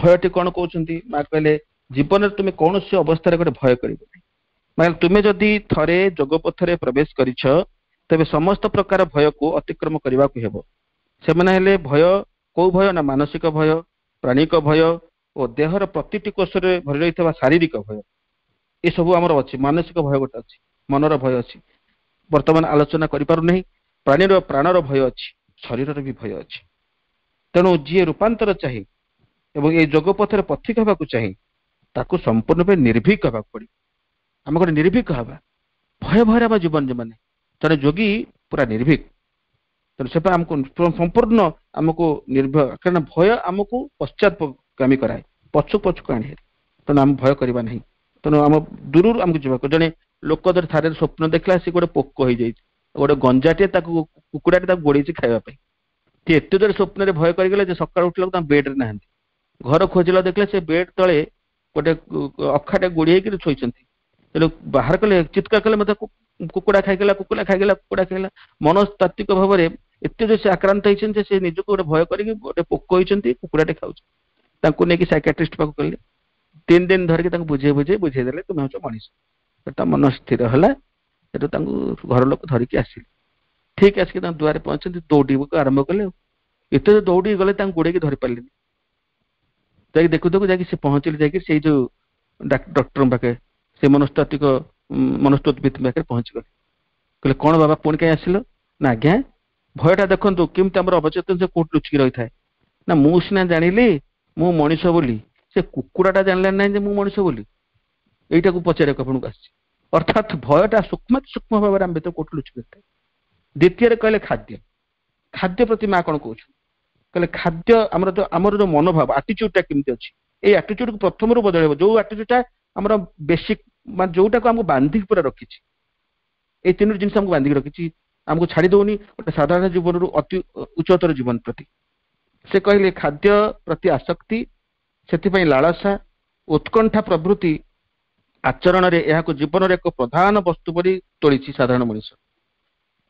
ଭୟଟି କଣ କହୁଛନ୍ତି ମା? କହିଲେ ଜୀବନରେ ତୁମେ କୌଣସି ଅବସ୍ଥାରେ ଗୋଟେ ଭୟ କରିବ ନାହିଁ। ମାନେ ତୁମେ ଯଦି ଥରେ ଯୋଗ ପଥରେ ପ୍ରବେଶ କରିଛ, ତେବେ ସମସ୍ତ ପ୍ରକାର ଭୟକୁ ଅତିକ୍ରମ କରିବାକୁ ହେବ। ସେମାନେ ହେଲେ ଭୟ, କୋଉ ଭୟ ନା ମାନସିକ ଭୟ, ପ୍ରାଣିକ ଭୟ ଓ ଦେହର ପ୍ରତିଟି କୋଷରେ ଭରି ରହିଥିବା ଶାରୀରିକ ଭୟ। ଏସବୁ ଆମର ଅଛି। ମାନସିକ ଭୟ ଗୋଟେ ଅଛି, ମନର ଭୟ ଅଛି, ବର୍ତ୍ତମାନ ଆଲୋଚନା କରିପାରୁନାହିଁ। ପ୍ରାଣୀର ପ୍ରାଣର ଭୟ ଅଛି, ଶରୀରର ବି ଭୟ ଅଛି। ତେଣୁ ଯିଏ ରୂପାନ୍ତର ଚାହେଁ ଏବଂ ଏଇ ଯୋଗ ପଥରେ ପଥିକ ହେବାକୁ ଚାହେଁ, ତାକୁ ସମ୍ପୂର୍ଣ୍ଣ ରୂପେ ନିର୍ଭୀକ ହେବାକୁ ପଡିବ। ଆମେ ଗୋଟେ ନିର୍ଭୀକ ହେବା, ଭୟ ଭୟରେ ଆମ ଜୀବନ ମାନେ ଜଣେ ଯୋଗୀ ପୁରା ନିର୍ଭୀକ। ତେଣୁ ସେଟା ଆମକୁ ସମ୍ପୂର୍ଣ୍ଣ ଆମକୁ ନିର୍ଭୟ, କାରଣ ଭୟ ଆମକୁ ପଶ୍ଚାତଗାମୀ କରାଏ, ପଛକୁ ପଛକୁ ଆଣେ। ତେଣୁ ଆମେ ଭୟ କରିବା ନାହିଁ। ତେଣୁ ଆମ ଦୂରରୁ ଆମକୁ ଯିବାକୁ, ଜଣେ ଲୋକ ଧର ଥରେ ସ୍ୱପ୍ନ ଦେଖିଲା ସେ ଗୋଟେ ପୋକ ହେଇଯାଇଛି, ଗୋଟେ ଗଞ୍ଜାଟିଏ ତାକୁ, କୁକୁଡ଼ାଟେ ତାକୁ ଗୋଡେଇଛି ଖାଇବା ପାଇଁ। ସେ ଏତେ ଜୋରେ ସ୍ୱପ୍ନରେ ଭୟ କରିଗଲେ ଯେ ସକାଳୁ ଉଠିଲା ତାଙ୍କ ବେଡରେ ନାହାନ୍ତି। ଘର ଖୋଜିଲା, ଦେଖିଲେ ସେ ବେଡ୍ ତଳେ ଗୋଟେ ଅଖାଟେ ଗୋଡି ହେଇକିରି ଶୋଇଛନ୍ତି। ତେଣୁ ବାହାର କଲେ, ଚିତ୍କାର କଲେ, ମତେ କୁକୁଡ଼ା ଖାଇଗଲା, କୁକୁଡ଼ା ଖାଇଗଲା, କୁକୁଡ଼ା ଖାଇଗଲା। ମନସ୍ତାତ୍ତ୍ୱିକ ଭାବରେ ଏତେ ଯେ ସେ ଆକ୍ରାନ୍ତ ହେଇଛନ୍ତି ଯେ ସେ ନିଜକୁ ଗୋଟେ ଭୟ କରିକି ଗୋଟେ ପୋକ ହେଇଛନ୍ତି, କୁକୁଡ଼ାଟେ ଖାଉଛି। ତାଙ୍କୁ ନେଇକି ସାଇକାଟ୍ରିଷ୍ଟ ପାଖକୁ କଲେ, 3 ଦିନ ଧରିକି ତାଙ୍କୁ ବୁଝେଇ ବୁଝେଇ ବୁଝେଇ ଦେଲେ, ତୁମେ ହଉଛ ମଣିଷ। ତା ମନ ସ୍ଥିର ହେଲା। ସେଠୁ ତାଙ୍କୁ ଘର ଲୋକ ଧରିକି ଆସିଲେ। ଠିକ ଆସିକି ତାଙ୍କ ଦୁଆରେ ପହଞ୍ଚନ୍ତି, ଦୌଡ଼ିବାକୁ ଆରମ୍ଭ କଲେ। ଏତେ ଦୌଡ଼ିକି ଗଲେ, ତାଙ୍କୁ ଗୋଡେଇକି ଧରି ପାରିଲେନି। ଯାଇକି ଦେଖୁ ଦେଖୁ ଯାଇକି ସେ ପହଞ୍ଚିଲେ ଯାଇକି ସେଇ ଯୋଉ ଡକ୍ଟରଙ୍କ ପାଖରେ, ସେ ମନସ୍ତାତ୍ତ୍ୱିକ ମନସ୍ତତ୍ତ୍ୱବିତ୍ ପାଖରେ ପହଞ୍ଚିଗଲେ। କହିଲେ, କଣ ବାବା, ପୁଣି କାହିଁ ଆସିଲ? ନା ଆଜ୍ଞା, ଭୟଟା ଦେଖନ୍ତୁ କେମିତି ଆମର ଅବଚେତନ ସେ କୋଉଠି ଲୁଚିକି ରହିଥାଏ। ନା ମୁଁ ସିନା ଜାଣିଲି ମୁଁ ମଣିଷ ବୋଲି, ସେ କୁକୁଡ଼ାଟା ଜାଣିଲା ନାହିଁ ଯେ ମୁଁ ମଣିଷ ବୋଲି। ଏଇଟାକୁ ପଚାରିବାକୁ ଆପଣଙ୍କୁ ଆସିଛି। ଅର୍ଥାତ୍ ଭୟଟା ସୂକ୍ଷ୍ମ ସୂକ୍ଷ୍ମ ଭାବରେ ଆମ ଭିତରେ କୋଉଠି ଲୁଚିକି ରହିଥାଏ। ଦ୍ୱିତୀୟରେ କହିଲେ ଖାଦ୍ୟ। ଖାଦ୍ୟ ପ୍ରତି ମା କଣ କହୁଛନ୍ତି? କହିଲେ ଖାଦ୍ୟ ଆମର ଯୋଉ ମନୋଭାବ, ଆଟିଚ୍ୟୁଡଟା କେମିତି ଅଛି, ଏଇ ଆଟିଚ୍ୟୁଡକୁ ପ୍ରଥମରୁ ବଦଳେଇବ। ଯୋଉ ଆଟିଚ୍ୟୁଡଟା ଆମର ବେସିକ, ମାନେ ଯୋଉଟାକୁ ଆମକୁ ବାନ୍ଧିକି ପୁରା ରଖିଛି, ଏଇ ତିନୋଟି ଜିନିଷ ଆମକୁ ବାନ୍ଧିକି ରଖିଛି, ଆମକୁ ଛାଡି ଦଉନି ଗୋଟେ ସାଧାରଣ ଜୀବନରୁ ଅତି ଉଚ୍ଚତର ଜୀବନ ପ୍ରତି। ସେ କହିଲେ ଖାଦ୍ୟ ପ୍ରତି ଆସକ୍ତି, ସେଥିପାଇଁ ଲାଳସା ଉତ୍କଣ୍ଠା ପ୍ରଭୃତି ଆଚରଣରେ ଏହାକୁ ଜୀବନର ଏକ ପ୍ରଧାନ ବସ୍ତୁ ପରି ତୋଳିଛି ସାଧାରଣ ମଣିଷ।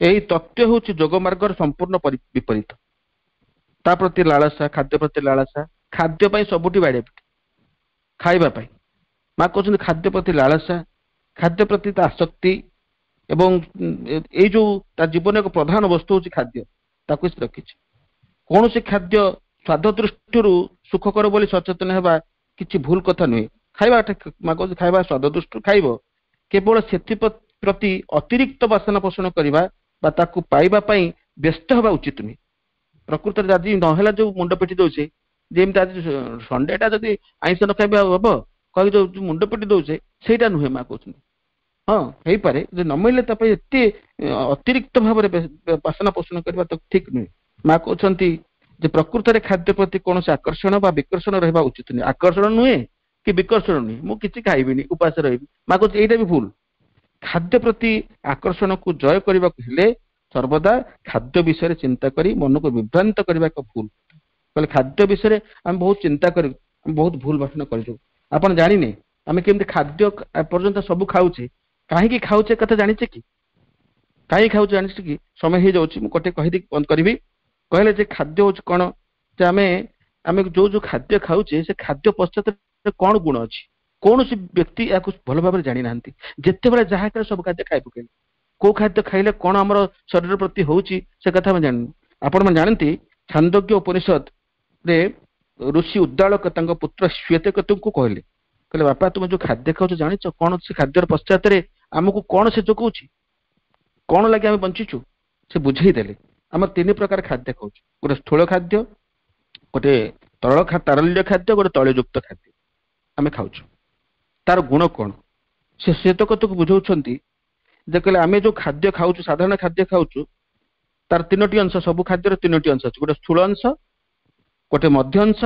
ଏହି ତତ୍ତ୍ୱ ହେଉଛି ଯୋଗ ମାର୍ଗର ସମ୍ପୂର୍ଣ୍ଣ ବିପରୀତ। ତା ପ୍ରତି ଲାଳସା, ଖାଦ୍ୟ ପ୍ରତି ଲାଳସା, ଖାଦ୍ୟ ପାଇଁ ସବୁଠି ବାଡ଼ିଆ ପିଟି, ଖାଇବା ପାଇଁ। ମା କହୁଛନ୍ତି ଖାଦ୍ୟ ପ୍ରତି ଲାଳସା, ଖାଦ୍ୟ ପ୍ରତି ତା ଆସକ୍ତି, ଏବଂ ଏଇ ଯୋଉ ତା ଜୀବନ ଏକ ପ୍ରଧାନ ବସ୍ତୁ ହଉଛି ଖାଦ୍ୟ, ତାକୁ ସେ ରଖିଛି। କୌଣସି ଖାଦ୍ୟ ସ୍ୱାଦ ଦୃଷ୍ଟିରୁ ସୁଖକର ବୋଲି ସଚେତନ ହେବା କିଛି ଭୁଲ କଥା ନୁହେଁ। ଖାଇବାଟା, ମା କହୁଛି ଖାଇବା ସ୍ୱାଦ ଦୃଷ୍ଟିରୁ ଖାଇବ, କେବଳ ସେଥିପ୍ରତି ଅତିରିକ୍ତ ବାସନା ପୋଷଣ କରିବା ବା ତାକୁ ପାଇବା ପାଇଁ ବ୍ୟସ୍ତ ହେବା ଉଚିତ ନୁହେଁ। ପ୍ରକୃତରେ ଆଜି ନହେଲା ଯୋଉ ମୁଣ୍ଡ ପିଟି ଦଉଛେ, ଯେମିତି ଆଜି ସଣ୍ଡେଟା ଯଦି ଆଇଁଷ ନ ଖାଇବା ହବ କହିକି ଯୋଉ ମୁଣ୍ଡ ପିଟି ଦଉଛେ, ସେଇଟା ନୁହେଁ। ମା କହୁଛନ୍ତି ହଁ ହେଇପାରେ, ଯଦି ନ ମିଳିଲେ ତା ପାଇଁ ଏତେ ଅତିରିକ୍ତ ଭାବରେ ବାସନା ପୋଷଣ କରିବା ତ ଠିକ ନୁହେଁ। ମା କହୁଛନ୍ତି ଯେ ପ୍ରକୃତରେ ଖାଦ୍ୟ ପ୍ରତି କୌଣସି ଆକର୍ଷଣ ବା ବିକର୍ଷଣ ରହିବା ଉଚିତ ନୁହେଁ। ଆକର୍ଷଣ ନୁହେଁ କି ବିକର୍ଷଣ ନୁହେଁ, ମୁଁ କିଛି ଖାଇବିନି, ଉପାସ ରହିବି, ମା କହୁଛି ଏଇଟା ବି ଭୁଲ। ଖାଦ୍ୟ ପ୍ରତି ଆକର୍ଷଣକୁ ଜୟ କରିବାକୁ ହେଲେ ସର୍ବଦା ଖାଦ୍ୟ ବିଷୟରେ ଚିନ୍ତା କରି ମନକୁ ବିଭ୍ରାନ୍ତ କରିବା ଏକ ଭୁଲ। କହିଲେ ଖାଦ୍ୟ ବିଷୟରେ ଆମେ ବହୁତ ଚିନ୍ତା କରି ବହୁତ ଭୁଲ ଭାଷଣ କରିଦେଉ। ଆପଣ ଜାଣିନେ ଆମେ କେମିତି ଖାଦ୍ୟ ପର୍ଯ୍ୟନ୍ତ ସବୁ ଖାଉଛେ, କାହିଁକି ଖାଉଛେ କଥା ଜାଣିଛେ କି? କାହିଁକି ଖାଉଛେ ଜାଣିଛେ କି? ସମୟ ହେଇଯାଉଛି, ମୁଁ ଗୋଟେ କହିଦେଇକି ବନ୍ଦ କରିବି। କହିଲେ ଯେ ଖାଦ୍ୟ ହଉଛି କଣ, ଯେ ଆମେ ଯୋଉ ଯୋଉ ଖାଦ୍ୟ ଖାଉଛେ ସେ ଖାଦ୍ୟ ପଶ୍ଚାତରେ କଣ ଗୁଣ ଅଛି, କୌଣସି ବ୍ୟକ୍ତି ଏହାକୁ ଭଲ ଭାବରେ ଜାଣିନାହାନ୍ତି। ଯେତେବେଳେ ଯାହା ଖାଇଲେ ସବୁ ଖାଦ୍ୟ ଖାଇ ପକେଇଲେ, କୋଉ ଖାଦ୍ୟ ଖାଇଲେ କଣ ଆମର ଶରୀର ପ୍ରତି ହଉଛି ସେ କଥା ଆମେ ଜାଣିନୁ। ଆପଣମାନେ ଜାଣନ୍ତି ଛାନ୍ଦୋଗ୍ୟ ଉପନିଷଦରେ ଋଷି ଉଦ୍ଦାଳକ ତାଙ୍କ ପୁତ୍ର ଶ୍ୱେତକେତୁଙ୍କୁ କହିଲେ, କହିଲେ ବାପା ତୁମେ ଯୋଉ ଖାଦ୍ୟ ଖାଉଛ ଜାଣିଛ କଣ ସେ ଖାଦ୍ୟର ପଶ୍ଚାତରେ ଆମକୁ କଣ ସେ ଯୋଗାଉଛି, କଣ ଲାଗି ଆମେ ବଞ୍ଚିଛୁ? ସେ ବୁଝେଇ ଦେଲେ ଆମେ ତିନି ପ୍ରକାର ଖାଦ୍ୟ ଖାଉଛୁ, ଗୋଟେ ସ୍ଥୂଳ ଖାଦ୍ୟ, ଗୋଟେ ତରଳ ତାରଲ୍ୟ ଖାଦ୍ୟ, ଗୋଟେ ତୈଳଯୁକ୍ତ ଖାଦ୍ୟ ଆମେ ଖାଉଛୁ। ତାର ଗୁଣ କଣ ସେ ଶ୍ୱେତକେତୁକୁ ବୁଝାଉଛନ୍ତି ଯେ କହିଲେ ଆମେ ଯୋଉ ଖାଦ୍ୟ ଖାଉଛୁ, ସାଧାରଣ ଖାଦ୍ୟ ଖାଉଛୁ, ତାର ତିନୋଟି ଅଂଶ, ସବୁ ଖାଦ୍ୟର ତିନୋଟି ଅଂଶ ଅଛି, ଗୋଟେ ସ୍ଥୂଳ ଅଂଶ, ଗୋଟେ ମଧ୍ୟ ଅଂଶ,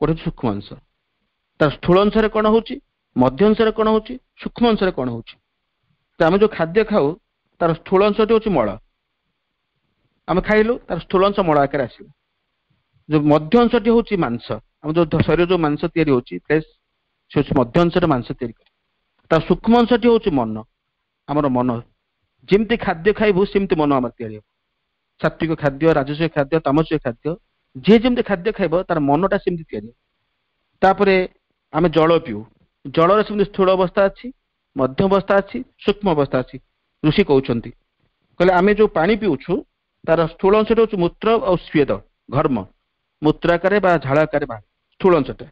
ଗୋଟେ ସୂକ୍ଷ୍ମ ଅଂଶ। ତାର ସ୍ଥୂଳ ଅଂଶରେ କଣ ହଉଛି, ମଧ୍ୟ ଅଂଶରେ କଣ ହଉଛି, ସୂକ୍ଷ୍ମ ଅଂଶରେ କଣ ହଉଛି। ତ ଆମେ ଯୋଉ ଖାଦ୍ୟ ଖାଉ ତାର ସ୍ଥୂଳ ଅଂଶଟି ହଉଛି ମଳ, ଆମେ ଖାଇଲୁ ତାର ସ୍ଥୂଳ ଅଂଶ ମଳ ଆକାରରେ ଆସିଲା। ଯୋଉ ମଧ୍ୟ ଅଂଶଟି ହଉଛି ମାଂସ, ଆମ ଯୋଉ ଶରୀର ଯୋଉ ମାଂସ ତିଆରି ହଉଛି ଫ୍ଲେଶ, ସେ ହଉଛି ମଧ୍ୟ ଅଂଶରେ ମାଂସ ତିଆରି କରେ। ତାର ସୂକ୍ଷ୍ମ ଅଂଶଟି ହଉଛି ମନ, ଆମର ମନ ଯେମିତି ଖାଦ୍ୟ ଖାଇବୁ ସେମିତି ମନ ଆମର ତିଆରି ହବ। ସାତ୍ବିକ ଖାଦ୍ୟ, ରାଜସିକ ଖାଦ୍ୟ, ତାମସିକ ଖାଦ୍ୟ, ଯିଏ ଯେମିତି ଖାଦ୍ୟ ଖାଇବ ତାର ମନଟା ସେମିତି ତିଆରି ହବ। ତାପରେ ଆମେ ଜଳ ପିଉ, ଜଳର ସେମିତି ସ୍ଥୂଳ ଅବସ୍ଥା ଅଛି, ମଧ୍ୟ ଅବସ୍ଥା ଅଛି, ସୂକ୍ଷ୍ମ ଅବସ୍ଥା ଅଛି। ଋଷି କହୁଛନ୍ତି କହିଲେ ଆମେ ଯୋଉ ପାଣି ପିଉଛୁ ତାର ସ୍ଥୂଳ ଅଂଶଟା ହଉଛି ମୂତ୍ର ଆଉ ସ୍ୱେଦ ଘର୍ମ, ମୂତ୍ର ଆକାରରେ ବା ଝାଳ ଆକାରରେ ବାହାରେ ସ୍ଥୂଳ ଅଂଶଟା।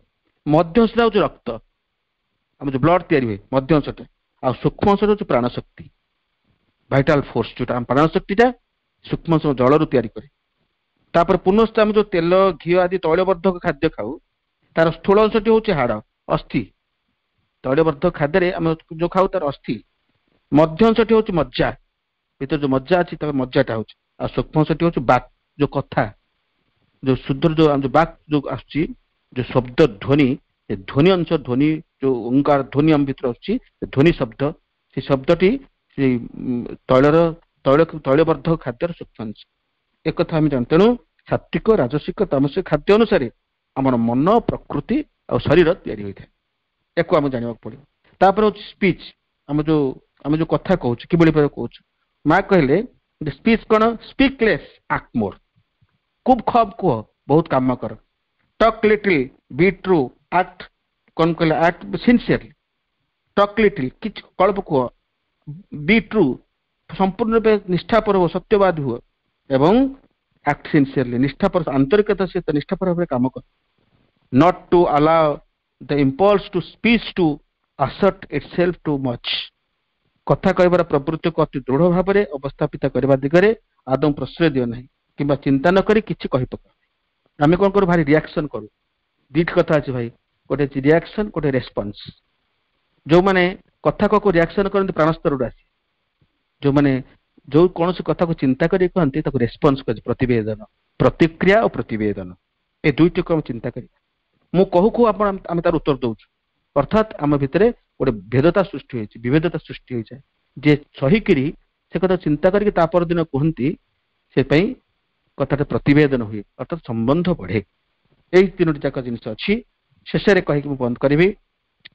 ମଧ୍ୟ ଅଂଶଟା ହଉଛି ରକ୍ତ, ଆମ ଯୋଉ ବ୍ଲଡ ତିଆରି ହୁଏ ମଧ୍ୟ ଅଂଶଟା। ଆଉ ସୂକ୍ଷ୍ମ ଅଂଶଟା ହଉଛି ପ୍ରାଣଶକ୍ତି, ଭାଇଟାଲ ଫୋର୍ସ, ଯୋଉଟା ଆମ ପ୍ରାଣଶକ୍ତିଟା ସୂକ୍ଷ୍ମ ଅଂଶ ଜଳରୁ ତିଆରି କରେ। ତାପରେ ପୁନଶ୍ଚ ଆମେ ଯୋଉ ତେଲ, ଘିଅ ଆଦି ତୈଳବର୍ଦ୍ଧକ ଖାଦ୍ୟ ଖାଉ ତାର ସ୍ଥୂଳ ଅଂଶଟି ହଉଛି ହାଡ଼, ଅସ୍ଥି। ତୈଳବର୍ଦ୍ଧକ ଖାଦ୍ୟରେ ଆମେ ଯୋଉ ଖାଉ ତାର ଅସ୍ଥି। ମଧ୍ୟ ଅଂଶଟି ହଉଛି ମଜ୍ଜା, ଭିତରେ ଯୋଉ ମଜ୍ଜା ଅଛି ତାର ମଜ୍ଜାଟା ହଉଛି। ଆଉ ସୂକ୍ଷ୍ମ ଅଂଶଟି ହଉଛି ବାକ୍, ଯୋଉ କଥା, ଯୋଉ ଶୁଦ୍ଧ ଯୋଉ ଆମ ଯୋଉ ବାକ୍ ଯୋଉ ଆସୁଛି, ଯୋଉ ଶବ୍ଦ ଧ୍ୱନି, ସେ ଧ୍ୱନି ଅଂଶ, ଧ୍ୱନି ଯୋଉ ଓଙ୍କାର ଧ୍ୱନି ଆମ ଭିତରେ ଆସୁଛି, ସେ ଧ୍ୱନି ଶବ୍ଦ, ସେ ଶବ୍ଦଟି ସେଇ ତୈଳର ତୈଳବର୍ଦ୍ଧକ ଖାଦ୍ୟର ସୂକ୍ଷ୍ମ ଅଂଶ। ଏକଥା ଆମେ ଜାଣୁ। ତେଣୁ ସାତ୍ବିକ, ରାଜସିକ, ତାମସିକ ଖାଦ୍ୟ ଅନୁସାରେ ଆମର ମନ, ପ୍ରକୃତି ଆଉ ଶରୀର ତିଆରି ହୋଇଥାଏ। ୟାକୁ ଆମେ ଜାଣିବାକୁ ପଡିବ। ତାପରେ ହଉଛି ସ୍ପିଚ୍, ଆମେ ଯୋଉ କଥା କହୁଛୁ କିଭଳି ଭାବେ କହୁଛୁ। ମା କହିଲେ ସ୍ପିଚ୍ କଣ? ସ୍ପିକ୍ ଲେସ୍ ଆକ୍ଟ ମୋର, ଖୁବ୍ କମ୍ କୁହ, ବହୁତ କାମ କର। Talk little, be true, act କଣ କହିଲେ? Act sincerely. Talk little, କିଛି ଅଳ୍ପ କୁହ, ବି ଟ୍ରୁ, ସମ୍ପୂର୍ଣ୍ଣ ରୂପେ ନିଷ୍ଠାପର ହୁଅ, ସତ୍ୟବାଦୀ ହୁଅ, ଏବଂ ଆକ୍ଟ ସିନସିୟରଲି, ନିଷ୍ଠାପର, ଆନ୍ତରିକତା ସହିତ ନିଷ୍ଠାପର ଭାବରେ କାମ କର। Not to allow the impulse to speech to assert itself too much, କଥା କହିବାର ପ୍ରବୃତ୍ତିକୁ ଅତି ଦୃଢ ଭାବରେ ଅବସ୍ଥାପିତ କରିବା ଦିଗରେ ଆଦୌ ପ୍ରଶ୍ରୟ ଦିଅ ନାହିଁ, କିମ୍ବା ଚିନ୍ତା ନ କରି କିଛି କହି ପକାଅ। ଆମେ କଣ କରୁ? ଭାରି ରିଆକ୍ସନ କରୁ। ଦିଟି କଥା ଅଛି ଭାଇ, ଗୋଟେ ଅଛି ରିଆକ୍ସନ, ଗୋଟେ ରେସ୍ପନ୍ସ। ଯୋଉମାନେ କଥା କକୁ ରିଆକ୍ସନ କରନ୍ତି ପ୍ରାଣସ୍ତରରୁ ଆସି, ଯୋଉମାନେ ଯୋଉ କୌଣସି କଥାକୁ ଚିନ୍ତା କରି କହନ୍ତି ତାକୁ ରେସ୍ପନ୍ସ କରନ୍ତି, ପ୍ରତିବେଦନ, ପ୍ରତିକ୍ରିୟା ଓ ପ୍ରତିବେଦନ, ଏ ଦୁଇଟିକୁ ଆମେ ଚିନ୍ତା କରିବା। ମୁଁ କହୁ କହୁ ଆପଣ ଆମେ ତାର ଉତ୍ତର ଦଉଛୁ, ଅର୍ଥାତ୍ ଆମ ଭିତରେ ଗୋଟେ ଭେଦତା ସୃଷ୍ଟି ହେଇଛି, ବିଭେଦତା ସୃଷ୍ଟି ହେଇଯାଏ। ଯିଏ ସହିକିରି ସେ କଥା ଚିନ୍ତା କରିକି ତା ପରଦିନ କୁହନ୍ତି, ସେ ପାଇଁ କଥାଟା ପ୍ରତିବେଦନ ହୁଏ, ଅର୍ଥାତ୍ ସମ୍ବନ୍ଧ ବଢେ। ଏଇ ତିନୋଟି ଯାକ ଜିନିଷ ଅଛି। ଶେଷରେ କହିକି ମୁଁ ବନ୍ଦ କରିବି